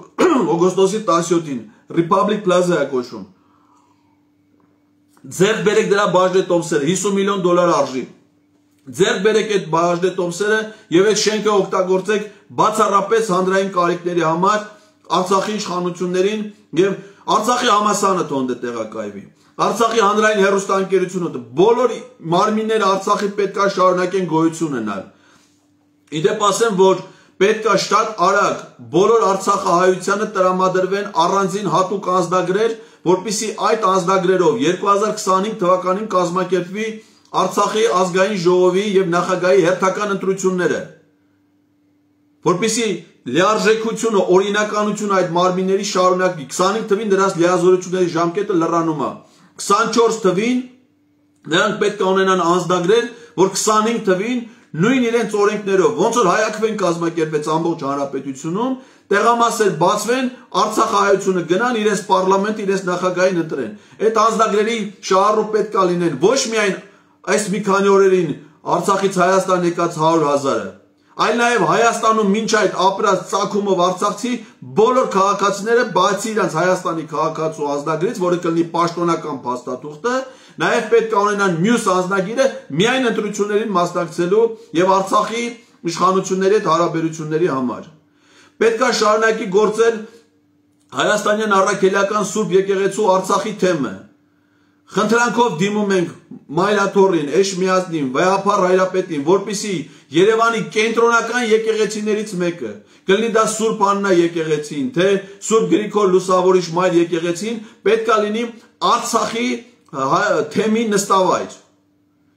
Speaker 1: օգոստոսի 17-ին, Republic Plaza է կոչվում։ Ձեռք բերեք դրա բաժնետոմսերը, $50 միլիոն արժի։ Ձեռք բերեք այդ բաժնետոմսերը եւ այդ շենքը օգտագործեք բացառապես հանրային կարիքների համար Արցախի իշխանություններին եւ Արցախի համասարանը թողնե տեղակայվի։ Արցախի հանրային հեռուստաընկերությունը բոլոր մարմինները Արցախի պետք է շարունակեն գոյություն ունենալ։ Իդեպ ասեմ, որ պետք է շատ արագ բոլոր Արցախահայությանը տրամադրվեն առանձին հատուկ անձնագրեր, որպեսզի այդ անձնագրերով 2025 թվականին կազմակերպվի Արցախի ազգային ժողովի եւ նախագահի հերթական ընտրությունները, որպեսզի լիարժեքությունը, օրինականությունը այդ մարմինների շարունակվի։ 25 թվին դրանց լիազորությունների ժամկետը լրանում է։ 24 թվին նրանք պետք է ունենան անձնագրեր, որ 25 թվին նույն իրենց օրենքներով, ոնց որ հայաքվեն կազմակերպեց ամբողջ հանրապետությունում, տեղամասեր բացվեն, Արցախահայությունը գնան իրենց պարլամենտ, իրենց նախագահին ընտրեն։ Այդ անձնագրերի շահառու պետք է լինեն ոչ միայն այս մի քանի օրերին Արցախից Հայաստան եկած 100,000-ը, այլ նաև Հայաստանում մինչ այդ ապրած ծագումով Արցախցի բոլոր քաղաքացիները, բացի իրենց Հայաստանի քաղաքացու անձնագրից, որը կլինի պաշտոնական փաստաթուղթը, նաև պետք է ունենան մյուս անձնագիրը միայն ընտրություններին մասնակցելու եւ Արցախի իշխանությունների հետ հարաբերությունների համար։ Պետք է շարունակի գործել Հայաստանյան առաքելական Սուրբ եկեղեցու Արցախի թեմը։ Խնդրանքով դիմում ենք Մայրաթորին, Էջմիածնին, Վեհափառ Հայրապետին, որպեսզի Երևանի կենտրոնական եկեղեցիներից մեկը, կլինի դա Սուրբ Աննա եկեղեցին, թե Սուրբ Գրիգոր Լուսավորիչ Մայր եկեղեցին, պետք է լինի Արցախի թեմի նստավայր։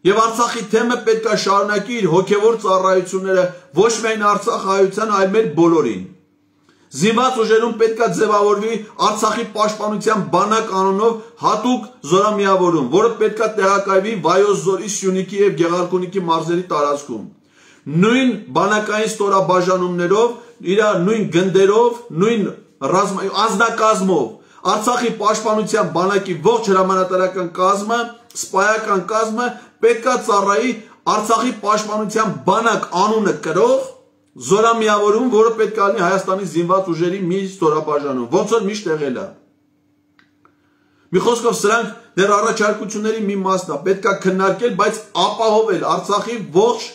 Speaker 1: Եվ Արցախի թեմը պետք է շարունակի իր հոգևոր ծառայությունները ոչ միայն Արցախահայության, այլ մեր բոլորին։ Զինված ուժերում պետք է ձևավորվի Արցախի պաշտպանության բանակ անունով հատուկ զորամիավորում, որը պետք է տեղակայվի Վայոց ձորի, Սյունիքի եւ Գեղարքունիքի մարզերի տարածքում։ Նույն բանակային ստորաբաժանումներով, իր նույն գնդերով, նույն անձնակազմով Արցախի պաշտպանության բանակի ողջ հրամանատարական կազմը, սպայական կազմը պետք է ծառայի Արցախի պաշտպանության բանակ անունը կրող զորամիավորում, որը պետք է լինի Հայաստանի զինված ուժերի մի ստորաբաժանում, ոնց որ միշտ եղել է։ Մի խոսքով սրանք դեռ առաջարկությունների մի մասն է, պետք է քննարկել, բայց ապահովել Արցախի ողջ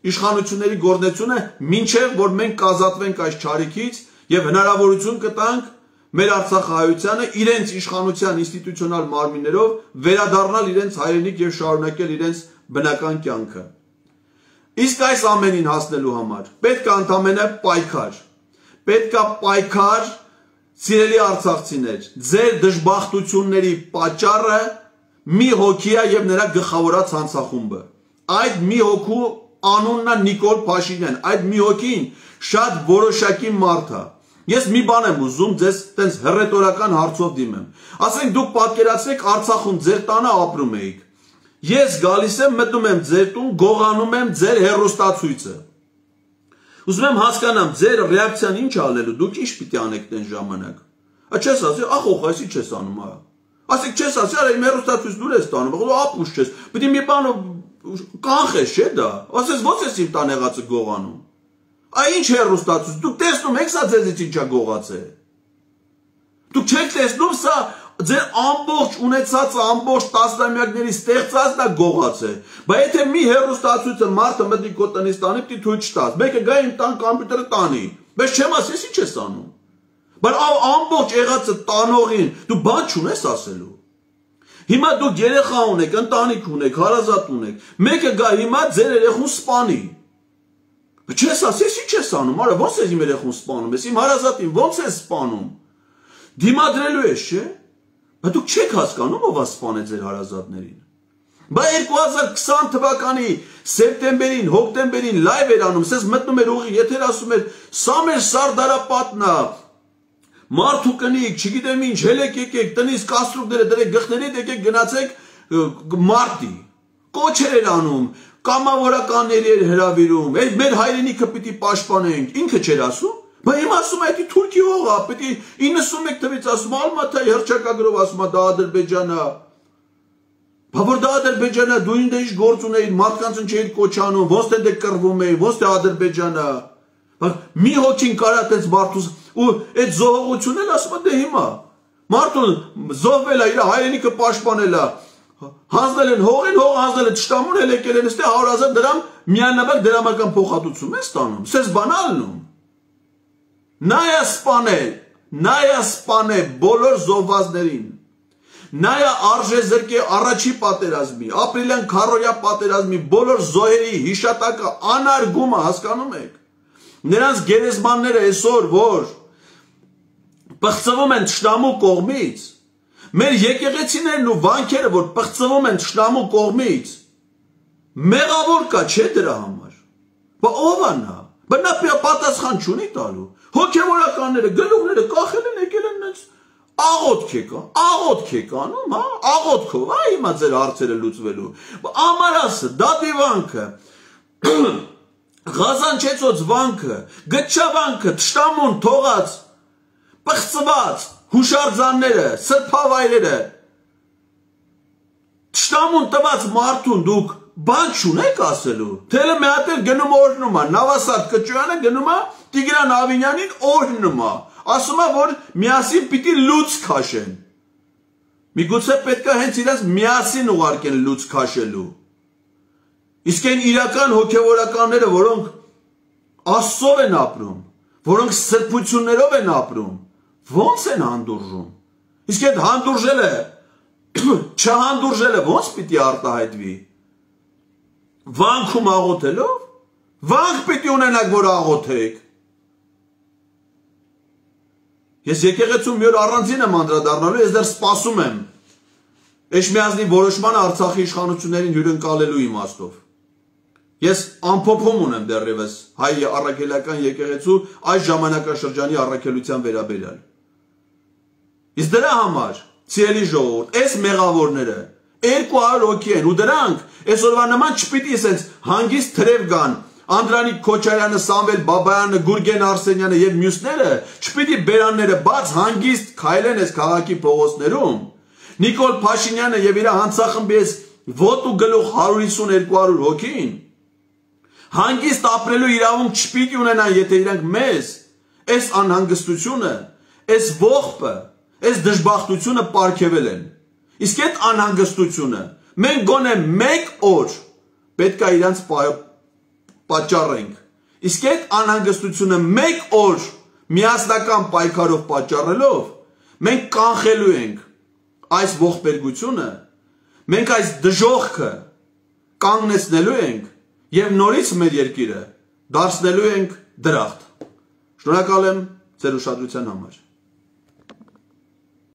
Speaker 1: իշխանությունների գործունեությունը, մինչև որ մենք կազատվենք այս չարիքից եւ հնարավորություն կտանք մեր Արցախահայությանը իրենց իշխանության ինստիտուցիոնալ մարմիններով վերադառնալ իրենց հայրենիք եւ շարունակել իրենց բնական կյանքը։ Իսկ այս ամենին հասնելու համար պետք է ընդամենը պայքար։ Պետք է պայքար, սիրելի արցախցիներ, ձեր դժբախտությունների պատճառը մի հոգի է եւ նրա գլխավորած հանցախումբը։ Այդ մի հոգու անունն է Նիկոլ Փաշինյան, այդ մի հոգին շատ որոշակի մարդ է։ Ես մի բան եմ ուզում ձեզ տենց հռետորական հարցով դիմեմ։ Ասենք դուք պատկերացրեք Արցախում ձեր տանը ապրում էիք։ Ես գալիս եմ, մտնում եմ ձեր տուն, գողանում եմ ձեր հեռուստացույցը։ Ուզում եմ հասկանամ ձեր ռեակցիան ինչ ալելու, դուք ինչ պիտի անեք տեն ժամանակ։ Չես ասի, ախոխ, այսի չես անում, հա։ Ասեք չես ասի, արա իմ հեռուստացույց դուր ես տանում, դու ապուշ չես։ Պիտի մի բան կանխես, չէ՞ դա։ Ասես ո՞նց ես իմ տան եղածը գողանում։ Այ ինչ հեռուստացույց, դուք տեսնում եք սա ձեզից ինչա գողացել։ Դուք չեք տեսնում սա ձեր ամբողջ ունեցածը, ամբողջ տասնամյակների ստեղծածն է գողացել։ Բայց եթե մի հեռուստացույցը մարդը մտնի քո տնից տանի, պիտի թույլ չտաս։ Մեկը գա իմ տան կոմպյուտերը տանի։ Բայց չեմ ասես ինչ ես անում։ Բայց ամբողջ եղածը տանողին դու բան չունես ասելու։ Հիմա դուք երեխա ունեք, ընտանիք ունեք, հարազատ ունեք։ Մեկը գա հիմա ձեր երեխուն սպանի։ Չես ասես ինչ ես անում, արա ո՞նց ես իմ երեխուն սպանում ես, իմ հարազատին ո՞նց ես սպանում։ Դիմադրելու ես, չէ՞։ Բայց դուք չեք հասկանում ով է սպանել ձեր հարազատներին։ Բայց 2020 թվականի սեպտեմբերին, հոկտեմբերին լայվ էր անում, ասես մտնում էր ուղի, եթեր ասում էր, սա մեր Սարդարապատն է, մարդու կնիկ, չգիտեմ ինչ, հելեք եկեք, տնից կաստրուկները դրեք գլխներիդ, եկեք գնացեք մարտի։ Կոչեր էր անում, կամավորականների էր հրավիրում, այդ մեր հայրենիքը պիտի պաշտպանենք, ինքը չէր ասում։ Բայց հիմա ասում է, դա Թուրքիա ող է, պիտի 91 թվից ասում, Ալմաթայի հռչակագրով ասում է, դա Ադրբեջանն է։ Բա որ դա Ադրբեջանն է, դու ինձ ինչ գործ ունեիր, մարդկանց ինչ էիր կոչանում, ոնց թե դե կռվում էի, ոնց թե Ադրբեջանը։ Բայց մի հոգին կարա տես մարդուս ու այդ զոհողությունն էլ ասում է դե հիմա։ Մարդուն զոհվել է, իր հայրենիքը պաշտպանել է։ Հանձնել են հողին, հողը հանձնել են թշնամուն, էլ եկել են ստե 100,000 դրամ միանավակ դրամական փոխհատուցում են ստանում։ Սես բանալնում։ Նայա սպանել բոլոր զոհվածներին։ Նայա արժեզրկե առաջի պատերազմի, ապրիլյան քարորյա պատերազմի բոլոր զոհերի հիշատակը անարգումը հասկանում եք։ Նրանց գերեզմանները այսօր որ պղծվում են թշնամու կողմից, մեր եկեղեցիներն ու վանքերը որ պղծվում են թշնամու կողմից, մեղավոր կա չէ դրա համար։ Բա ով է նա։ Բա նա պատասխան չունի տալու։ Հոգևորականները, գլուխները կախել են, եկել են նենց աղոթք եք անում, հա, աղոթքով, հա, հիմա ձեր հարցերը լուծվելու։ Ամարասը, դատիվանքը, Ղազանչեցոց վանքը, գտչավանքը, թշնամուն թողած, պղծված, հուշարձանները, սրբավայրերը, թշնամուն տված մարդուն դուք բան չունեք ասելու, թելը մի հատ էլ գնում օրհնում է, Նավասարդ Կճոյանը գնում է Տիգրան Ավինյանին օրհնում է, ասում է, որ միասին պիտի լուծ քաշեն։ Միգուցե պետք է հենց իրենց միասին ուղարկեն լուծ քաշելու։ Իսկ այն իրական հոգևորականները, որոնք Աստծով են ապրում, որոնք սրբություններով են ապրում, ո՞նց են հանդուրժում։ Իսկ այդ հանդուրժելը, չհանդուրժելը ո՞նց պիտի արտահայտվի։ Վանքում աղոթելով, վանք պիտի ունենաք, որ աղոթեք։ Ես եկեղեցում մի օր առանձին եմ անդրադառնալու, ես դեռ սպասում եմ Էշմիածնի որոշմանը Արցախի իշխանություններին հյուրընկալելու իմաստով։ Ես ամփոփում ունեմ դեռևս հայ առաքելական եկեղեցու այս ժամանակաշրջանի առաքելության վերաբերյալ։ Իսկ դրա համար, սիրելի ժողովուրդ, այս մեղավորները 200 հոգի են ու դրանք այսօրվա նման չպիտի ասենց հանգիստ թրև գան։ Անդրանիկ Քոչարյանը, Սամվել Բաբայանը, Գուրգեն Արսենյանը եւ մյուսները չպիտի բերանները բաց հանգիստ քայլեն այս քաղաքի փողոցներում։ Նիկոլ Փաշինյանը եւ իր հանցախմբի այս ոտու գլուխ 150-200 հոգին հանգիստ ապրելու իրավունք չպիտի ունենան, եթե իրանք մեզ այս անհանգստությունը, այս ողբը, այս դժբախտությունը պարգևել են։ Իսկ այդ անհանգստությունը մենք գոնե 1 օր պետք է իրանց պատճառենք։ Իսկ այդ անհանգստությունը 1 օր միասնական պայքարով պատճառելով մենք կանխելու ենք այս ողբերգությունը, մենք այս դժոխքը կանգնեցնելու ենք եւ նորից մեր երկիրը դարձնելու ենք դրախտ։ Շնորհակալ եմ ձեր ուշադրության համար։